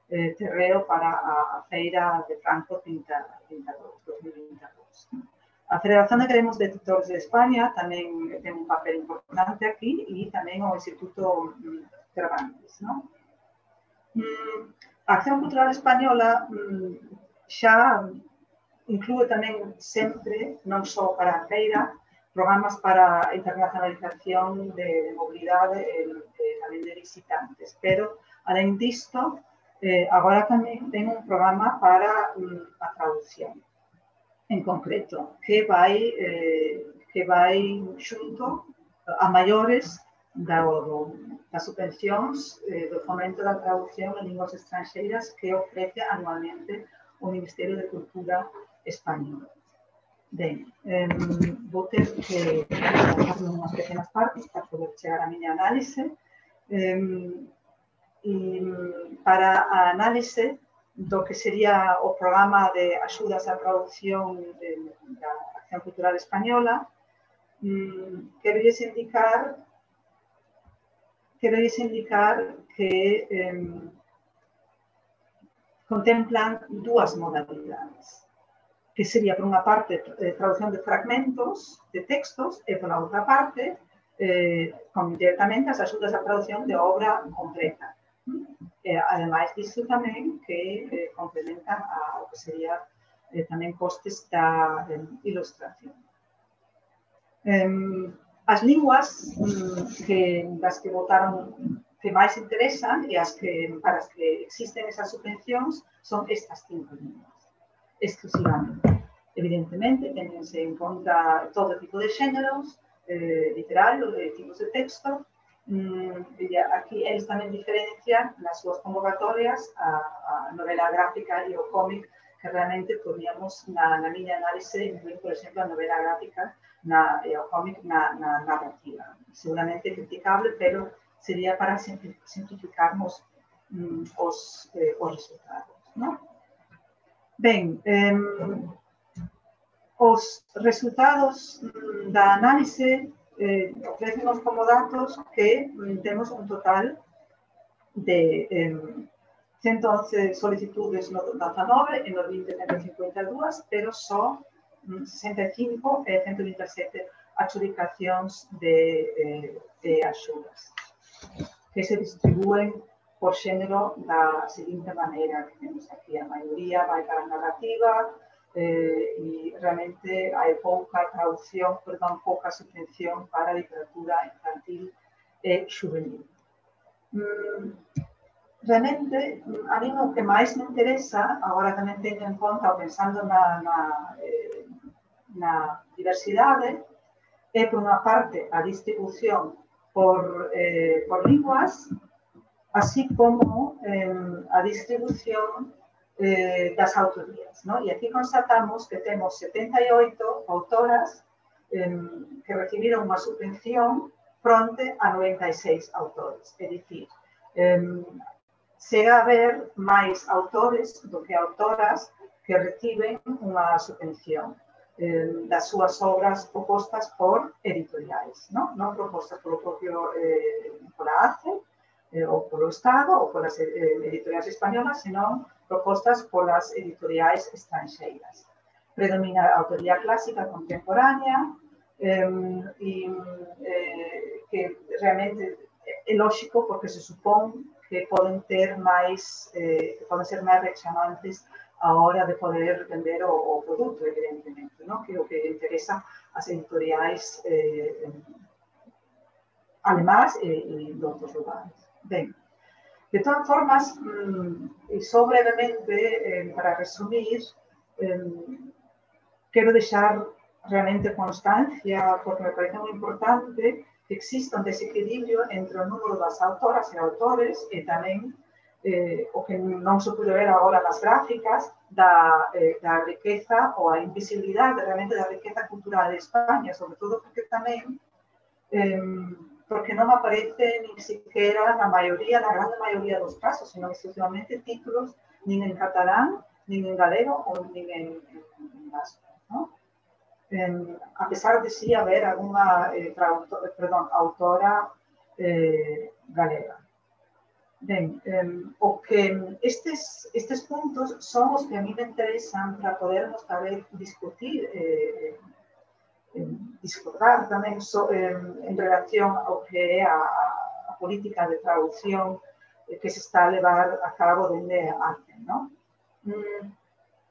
eh, terreo para a, a feira de Frankfurt dos mil veintidós. A Federación de Gremios de Editores de España tamén ten un papel importante aquí e tamén o Instituto um, Cervantes, ¿no? Um, a Acción Cultural Española um, xa inclúe tamén sempre, non só para a feira, programas para internacionalización de mobilidade e tamén de visitantes. Pero, além disto, eh, agora tamén ten un programa para um, a traducción, en concreto, que vai, eh, que vai xunto a maiores da, do, das subvencións eh, do fomento da traducción en linguas estranxeiras que ofrece anualmente o Ministerio de Cultura español. Ben, eh, vou ter que fazer unhas pequenas partes para poder chegar a miña análise. Eh, e para a análise do que sería o programa de axudas á traducción de, da Acción Cultural Española, eh, quero lles indicar, quero lles indicar que eh, contemplan dúas modalidades, que sería, por unha parte, traducción de fragmentos de textos e, por outra parte, eh, con directamente as axudas á traducción de obra completa. Eh, ademais disso tamén que eh, complementan a, o que sería eh, tamén costes da eh, ilustración. Eh, as linguas um, que, das que votaron que máis interesan e as que, para as que existen esas subvencións son estas cinco linguas, exclusivamente. Evidentemente, tenense en conta todo tipo de xéneros, eh, literal, de tipos de texto. Mm, aquí eles tamén diferencian nas súas convocatorias a, a novela gráfica e o cómic, que realmente podíamos, na, na miña análise, incluir, por exemplo, a novela gráfica na, e o cómic na, na narrativa. Seguramente criticable, pero sería para simplificarmos mm, os, eh, os resultados, ¿no? Ben, eh, os resultados mm, da análise eh, ofrecemos como datos que mm, temos un total de eh, ciento once solicitudes no dezanove e no vinte ciento cincuenta e dúas, pero só mm, sesenta e cinco e ciento vinte e sete adjudicacións de, eh, de axudas, que se distribúen por xénero da seguinte maneira que temos aquí. A maioría vai para a narrativa, Eh, e realmente hai pouca traducción, perdón, pouca subvención para a literatura infantil e juvenil. Mm, realmente, a mí o que máis me interesa, agora tamén teño en conta, pensando na, na, eh, na diversidade, é, por unha parte, a distribución por, eh, por linguas, así como eh, a distribución Eh, das autorías, ¿no? E aquí constatamos que temos setenta e oito autoras eh, que recibiron unha subvención fronte a noventa e seis autores. É dicir, eh, chega a haber máis autores do que autoras que reciben unha subvención eh, das súas obras propostas por editoriais, ¿no? Non propostas polo propio eh, pola A C E, eh, ou polo Estado, ou polas eh, editoriais españolas, senón propostas polas editoriais estranxeiras. Predomina a autoría clásica contemporánea eh, e eh, que realmente é lógico porque se supón que poden ter máis, eh, que poden ser máis rechamantes a hora de poder vender o, o produto, evidentemente, ¿no? Que é o que interesa as editoriais eh, alemás e, e de outros lugares. Ben, de todas formas, e só brevemente, eh, para resumir, eh, quero deixar realmente constancia, porque me parece moi importante, que exista un desequilibrio entre o número das autoras e autores e tamén eh, o que non se pude ver agora nas gráficas da, eh, da riqueza ou a invisibilidade realmente da riqueza cultural de España, sobre todo porque tamén eh, porque non aparece nin siquiera na maioría, na grande maioría dos casos, senón exclusivamente títulos nin en catalán, nin en galego ou nin en, en vasco, ¿no? Eh, a pesar de sí haber alguna eh, traductor, perdón, autora eh, galega. Ben, eh, o que estes, estes puntos son os que a mí me interesan para podernos saber discutir eh, discordar tamén so, eh, en relación ao que é a, a política de traducción eh, que se está a levar a cabo dende a arte, ¿no? Mm,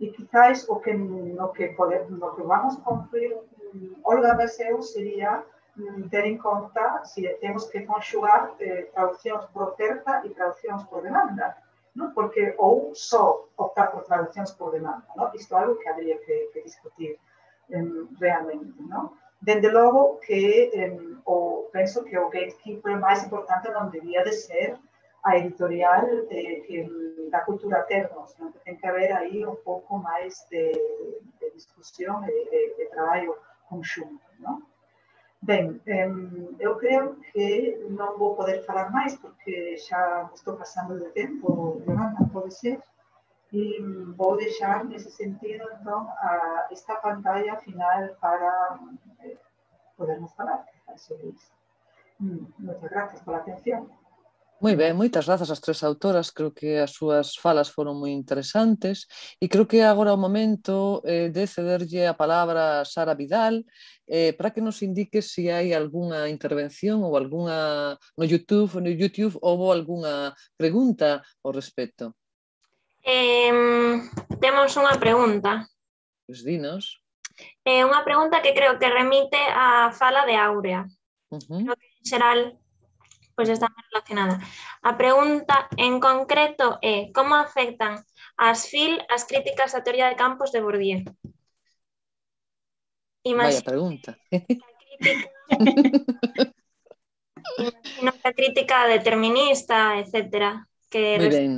e quizás o que, no, que pode, no que vamos a concluir, Olga da B S E U sería ter en conta se temos que conxugar eh, traduccións por oferta e traduccións por demanda, ¿no? Porque ou só optar por traduccións por demanda, ¿no? Isto é algo que habría que, que discutir eh, realmente, ¿no? Dende logo que eh, o, penso que o gatekeeper máis importante non debía de ser a editorial eh, que da cultura termos, ¿no? Que ten que haber aí un pouco máis de, de discusión e de, de traballo conxunto, ¿no? Ben, eh, eu creo que non vou poder falar máis porque xa estou pasando de tempo, Yolanda, pode ser? E vou deixar nese sentido, entón, a esta pantalla final para eh, podermos falar sobre isto. Moitas gracias pola atención. Moi ben, moitas grazas ás tres autoras, creo que as súas falas foron moi interesantes e creo que agora o momento eh, de cederlle a palabra a Sara Vidal eh, para que nos indique se hai algunha intervención ou algunha no YouTube, no YouTube houve algunha pregunta ao respecto. Eh, temos unha pregunta. Pois dinos. É eh, unha pregunta que creo que remite á fala de Áurea. Uh-huh. Creo que en xeral pois está máis relacionada. A pregunta en concreto é como afectan as F I L as críticas á teoría de campos de Bourdieu? Vaya pregunta. Imagino que a crítica determinista, etcétera. Que Moi ben.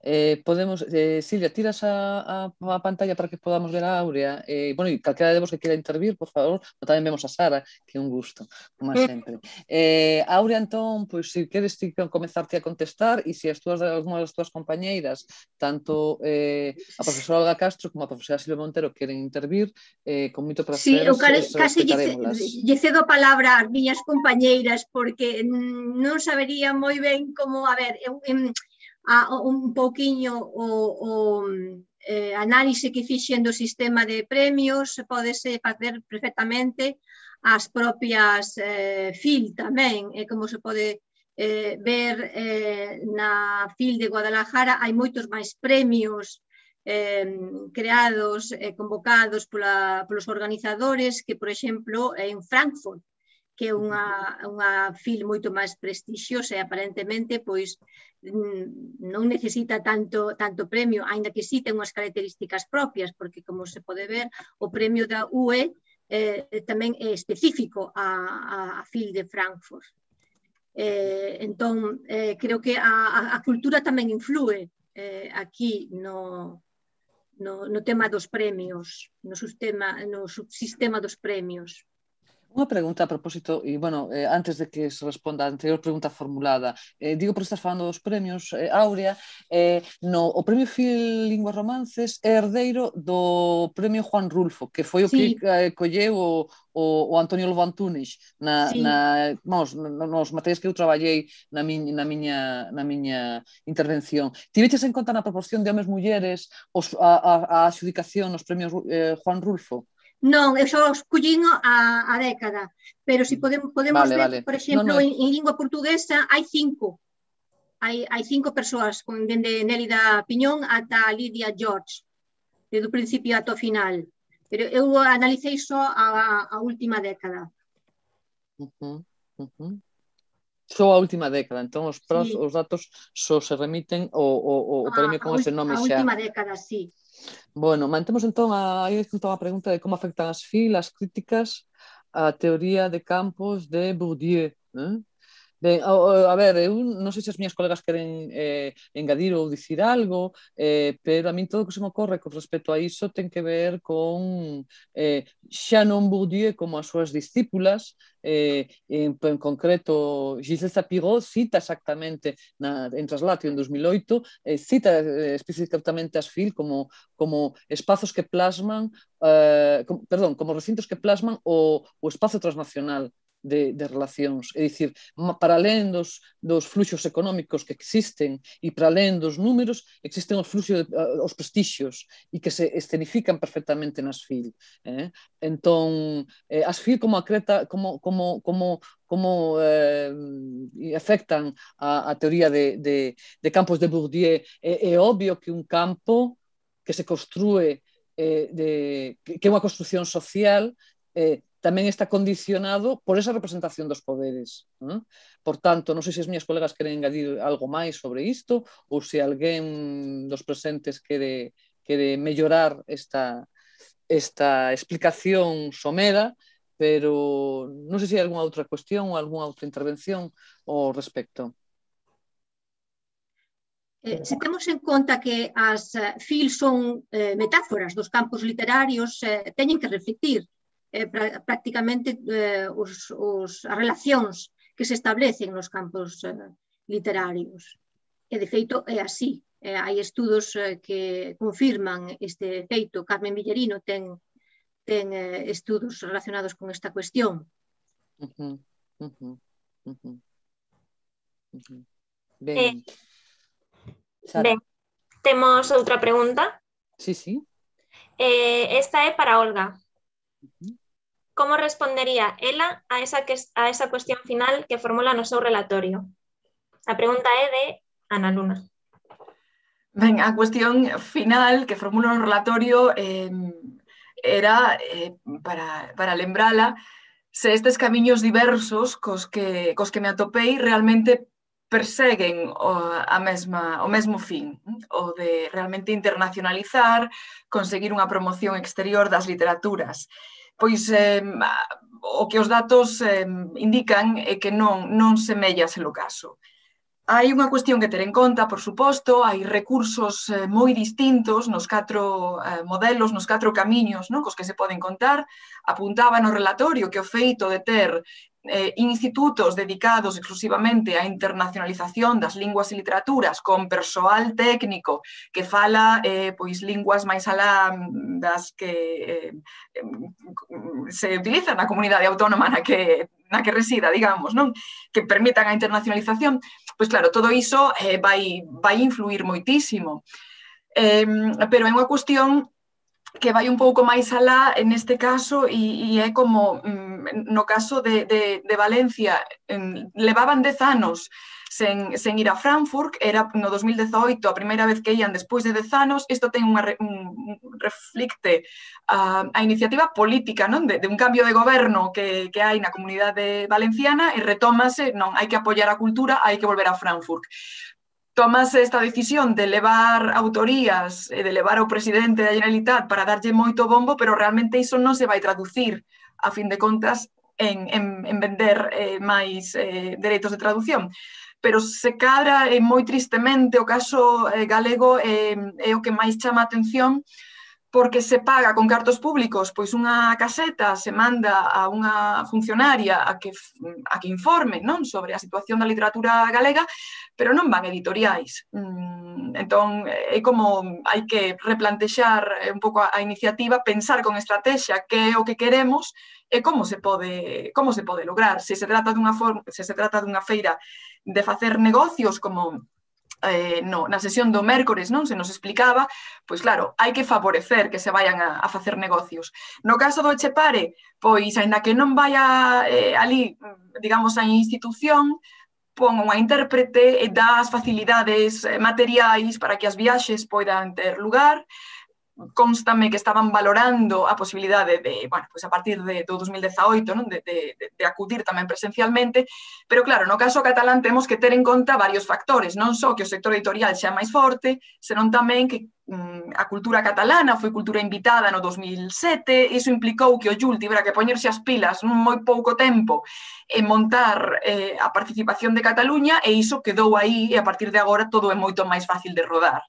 Eh, podemos, eh, Silvia, tiras a, a, a pantalla para que podamos ver a Áurea. Eh, bueno, e calquera de vos que quera intervir, por favor, pero tamén vemos a Sara, que é un gusto, como sempre. Eh, Áurea, entón, pois, se queres ti comezarte a contestar e se as túas, algumas das túas compañeiras, tanto eh, a profesora Olga Castro como a profesora Silvia Montero queren intervir, eh, con moito prazer, sí, eu casi respetarémolas. lle cedo a palabra ás miñas compañeiras porque non sabería moi ben como, a ver, eu... eu a un pouquiño o, o eh, análise que fixen do sistema de premios podese facer perfectamente as propias eh, F I L tamén, e como se pode eh, ver eh, na F I L de Guadalajara hai moitos máis premios eh, creados e eh, convocados pola, polos organizadores que, por exemplo, en Frankfurt, que é unha, unha F I L moito máis prestixiosa e aparentemente pois non necesita tanto, tanto premio, aínda que sí ten unhas características propias, porque como se pode ver, o premio da U E eh, tamén é específico a, a, a F I L de Frankfurt. Eh, entón, eh, creo que a, a cultura tamén influe eh, aquí no, no, no tema dos premios, no sistema, no subsistema dos premios. Unha pregunta a propósito, e, bueno, eh, antes de que se responda a anterior pregunta formulada, eh, digo porque estás falando dos premios, eh, Áurea, eh, no, o premio F I L Linguas Romances é herdeiro do premio Juan Rulfo, que foi o sí. que eh, colleu o, o, o Antonio Lobo Antunes na, sí. na, vamos, nos materiais que eu traballei na miña, na miña, na miña intervención. Tiveches en conta na proporción de homes mulleres os, a, a, a adjudicación nos premios eh, Juan Rulfo? Non, eu só escollín a, a década, pero se si podemos, podemos vale, ver, vale. por exemplo, no, no. En, en lingua portuguesa hai cinco. Hai, hai cinco persoas, dende Nélida Piñón ata Lidia George, desde o principio ata o final. Pero eu analicei só a, a última década. Uh -huh, uh -huh. Só a última década, entón os, pros, sí. os datos só se remiten o, o, o premio con ese nome xa. A última década, sí. Bueno, mantemos entón a, entón a pregunta de como afectan as F I L, as críticas á teoría de campos de Bourdieu. Eh? Ben, a, a ver, eu non sei se as miñas colegas queren eh, engadir ou dicir algo, eh, pero a min todo o que se me ocorre con respecto a iso ten que ver con eh, xa non Bourdieu como as súas discípulas, eh, en, en concreto Gisèle Sapiro cita exactamente na, en Translatio en dos mil oito, eh, cita eh, especificamente as F I L como, como espazos que plasman, eh, com, perdón, como recintos que plasman o, o espazo transnacional De, de relacións, é dicir, para alén dos, dos fluxos económicos que existen e para alén dos números existen os fluxos, os prestixios e que se escenifican perfectamente nas F I L. Eh? Entón, eh, as F I L como acreta, como, como, como, como eh, afectan a, a teoría de, de, de campos de Bourdieu, é, é obvio que un campo que se construe, eh, de, que é unha construcción social, eh, tamén está condicionado por esa representación dos poderes. ¿eh? Por tanto, non sei se as miñas colegas queren engadir algo máis sobre isto ou se alguén dos presentes quere, quere mellorar esta, esta explicación somera, pero non sei se hai algunha outra cuestión ou algunha outra intervención ao respecto. Eh, se temos en conta que as eh, fil son eh, metáforas dos campos literarios, eh, teñen que reflectir eh, pra, prácticamente eh, os, os, as relacións que se establecen nos campos eh, literarios. E, de feito, é así. Eh, hai estudos eh, que confirman este feito. Carmen Villarino ten, ten eh, estudos relacionados con esta cuestión. Uh-huh, uh-huh, uh-huh. Uh-huh. Ben. Eh, Sara. Ben, temos outra pregunta. Sí, sí. Eh, esta é para Olga. Uh-huh. Como respondería ela a esa, que, a esa cuestión final que formula no seu relatorio? A pregunta é de Ana Luna. Ben, a cuestión final que formula no relatorio eh, era eh, para, para lembrala se estes camiños diversos cos que, cos que me atopei realmente perseguen o, a mesma, o mesmo fin, o de realmente internacionalizar, conseguir unha promoción exterior das literaturas. Pois eh, o que os datos eh, indican é que non, non semella ser o caso. Hai unha cuestión que ter en conta, por suposto, hai recursos eh, moi distintos nos catro eh, modelos, nos catro camiños, non, cos que se poden contar. Apuntaba no relatorio que o feito de ter eh, institutos dedicados exclusivamente á internacionalización das linguas e literaturas con persoal técnico que fala eh, pois linguas máis alá das que eh, se utilizan na comunidade autónoma na que, na que resida, digamos, non? Que permitan a internacionalización, pois claro, todo iso eh, vai, vai influir moitísimo. Eh, pero é unha cuestión que vai un pouco máis alá neste caso e, e é como no caso de, de, de Valencia, en, levaban dez anos sen, sen ir a Frankfurt, era no dos mil dezaoito a primeira vez que ian despois de dez anos. Isto ten unha, un, un reflicte a, a iniciativa política, non? De, de un cambio de goberno que, que hai na comunidade valenciana e retómase, non, hai que apoiar a cultura, hai que volver a Frankfurt. Tomase esta decisión de levar autorías e de levar ao presidente da Generalitat para darlle moito bombo, pero realmente iso non se vai traducir, a fin de contas, en, en, en vender eh, máis eh, dereitos de traducción. Pero se cadra eh, moi tristemente o caso eh, galego eh, é o que máis chama a atención, porque se paga con cartos públicos, pois unha caseta se manda a unha funcionaria a que, a que informe, non, sobre a situación da literatura galega, pero non van editoriais. Entón, é como hai que replantexar un pouco a iniciativa, pensar con estrategia que é o que queremos e como se pode, como se pode lograr. Se se trata dunha forma, se se trata dunha feira de facer negocios como Eh, no, na sesión do mércores, non, se nos explicaba, pois claro, hai que favorecer que se vayan a, a facer negocios. No caso do Etxepare, pois, aínda que non vaya eh, ali, digamos, a institución, pon unha intérprete e dá as facilidades materiais para que as viaxes poidan ter lugar. Constame que estaban valorando a posibilidade de, bueno, pues a partir de, do dos mil dezaoito, non? De, de, de acudir tamén presencialmente, pero claro, no caso catalán temos que ter en conta varios factores, non só que o sector editorial xa máis forte, senón tamén que mm, a cultura catalana foi cultura invitada no dos mil sete, iso implicou que o Jul tivera que poñerse as pilas nun moi pouco tempo e montar eh, a participación de Cataluña, e iso quedou aí, e a partir de agora todo é moito máis fácil de rodar.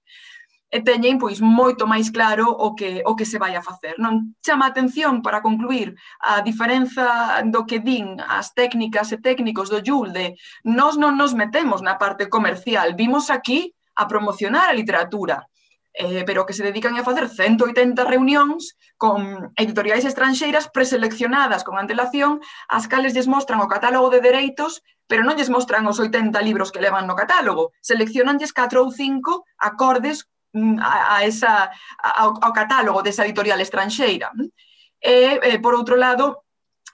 E teñen pois moito máis claro o que, o que se vai a facer. Non chama a atención, para concluir, a diferenza do que din as técnicas e técnicos do Jul de nós non nos metemos na parte comercial, vimos aquí a promocionar a literatura, eh, pero que se dedican a facer ciento oitenta reunións con editoriais estranxeiras preseleccionadas con antelación, as cales lles mostran o catálogo de dereitos, pero non lles mostran os oitenta libros que levan no catálogo, seleccionanlles catro ou cinco acordes A, a esa, ao, ao catálogo desa editorial estranxeira. E, eh, por outro lado,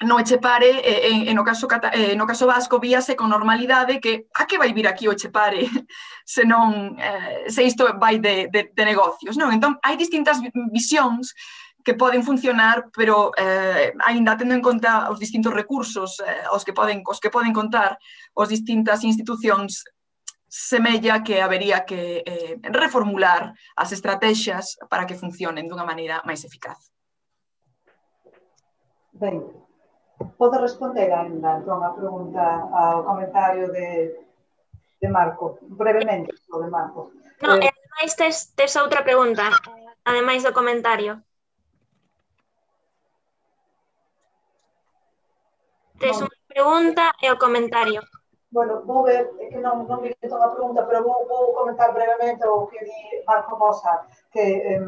no Etxepare, eh, en, en no, caso, eh, no caso vasco, víase con normalidade que a que vai vir aquí o Etxepare se non, eh, se isto vai de, de, de negocios, non? Entón, hai distintas visións que poden funcionar, pero eh, ainda tendo en conta os distintos recursos eh, os, que poden, os que poden contar as distintas institucións, semella que habería que eh, reformular as estrategias para que funcionen dunha maneira máis eficaz. Ben, podo responder ainda entón a pregunta, ao comentario de, de Marco, brevemente, o de Marco. No, Eh, e ademais tes, tes outra pregunta, ademais do comentario. Tes non, unha pregunta e o comentario. bueno, vou ver, é que non, non vi toda a pregunta, pero vou, vou comentar brevemente o que di Marco Mosa, que eh,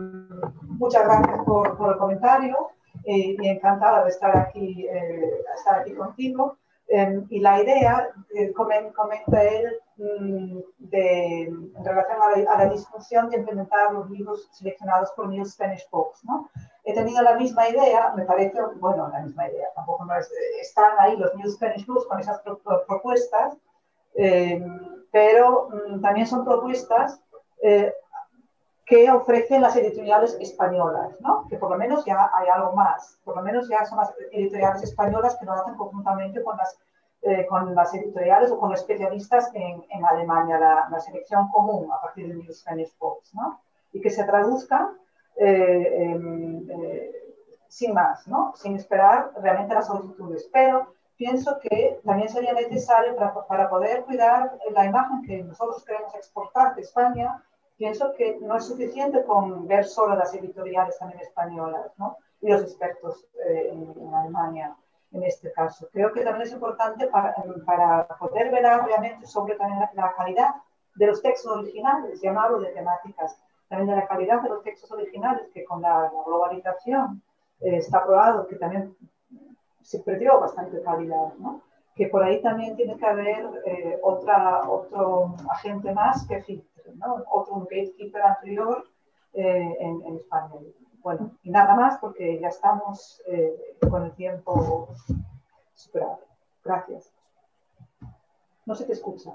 muchas gracias por, por el comentario eh, y encantada de estar aquí, eh, estar aquí contigo. Eh, y la idea, eh, comenta él, mm, de, en relación a la, a la discusión de implementar los libros seleccionados por New Spanish Books, ¿no? He tenido la misma idea, me parece, bueno, la misma idea, tampoco no es, están ahí los New Spanish Books con esas pro, pro, propuestas, eh, pero mm, también son propuestas eh, que ofrecen las editoriales españolas, ¿no? Que por lo menos ya hay algo más, por lo menos ya son las editoriales españolas que lo hacen conjuntamente con las, eh, con las editoriales o con los especialistas en, en Alemania, la, la selección común a partir de New Spanish Books, ¿no? Y que se traduzcan eh, eh, eh, sin más, ¿no? Sin esperar realmente las solicitudes, pero pienso que también sería necesario para, para poder cuidar la imagen que nosotros queremos exportar de España. Pienso que no es suficiente con ver solo las editoriales también españolas, ¿no? Y los expertos eh, en, en Alemania, en este caso. Creo que también es importante para, para poder velar realmente sobre también la, la calidad de los textos originales, ya no hablo de temáticas, también de la calidad de los textos originales, que con la, la globalización eh, está probado que también se perdió bastante calidad, ¿no? Que por ahí también tiene que haber eh, otra, otro agente más que filtre, ¿no? Otro gatekeeper anterior eh, en, en España. Bueno, y nada más porque ya estamos eh, con el tiempo superado. Gracias. No se te escucha.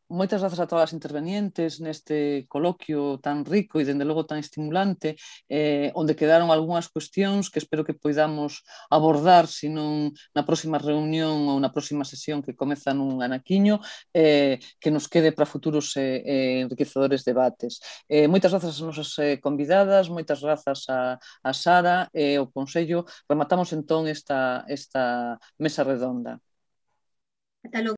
Moitas grazas a todas as intervenientes neste coloquio tan rico e, dende logo, tan estimulante, eh, onde quedaron algunhas cuestións que espero que poidamos abordar, senón na próxima reunión ou na próxima sesión que comeza nun anaquiño, eh, que nos quede para futuros eh, eh, enriquecedores debates. Eh, moitas grazas ás nosas eh, convidadas, moitas grazas a, a Sara e ao Consello. Rematamos entón esta, esta mesa redonda. Ata logo.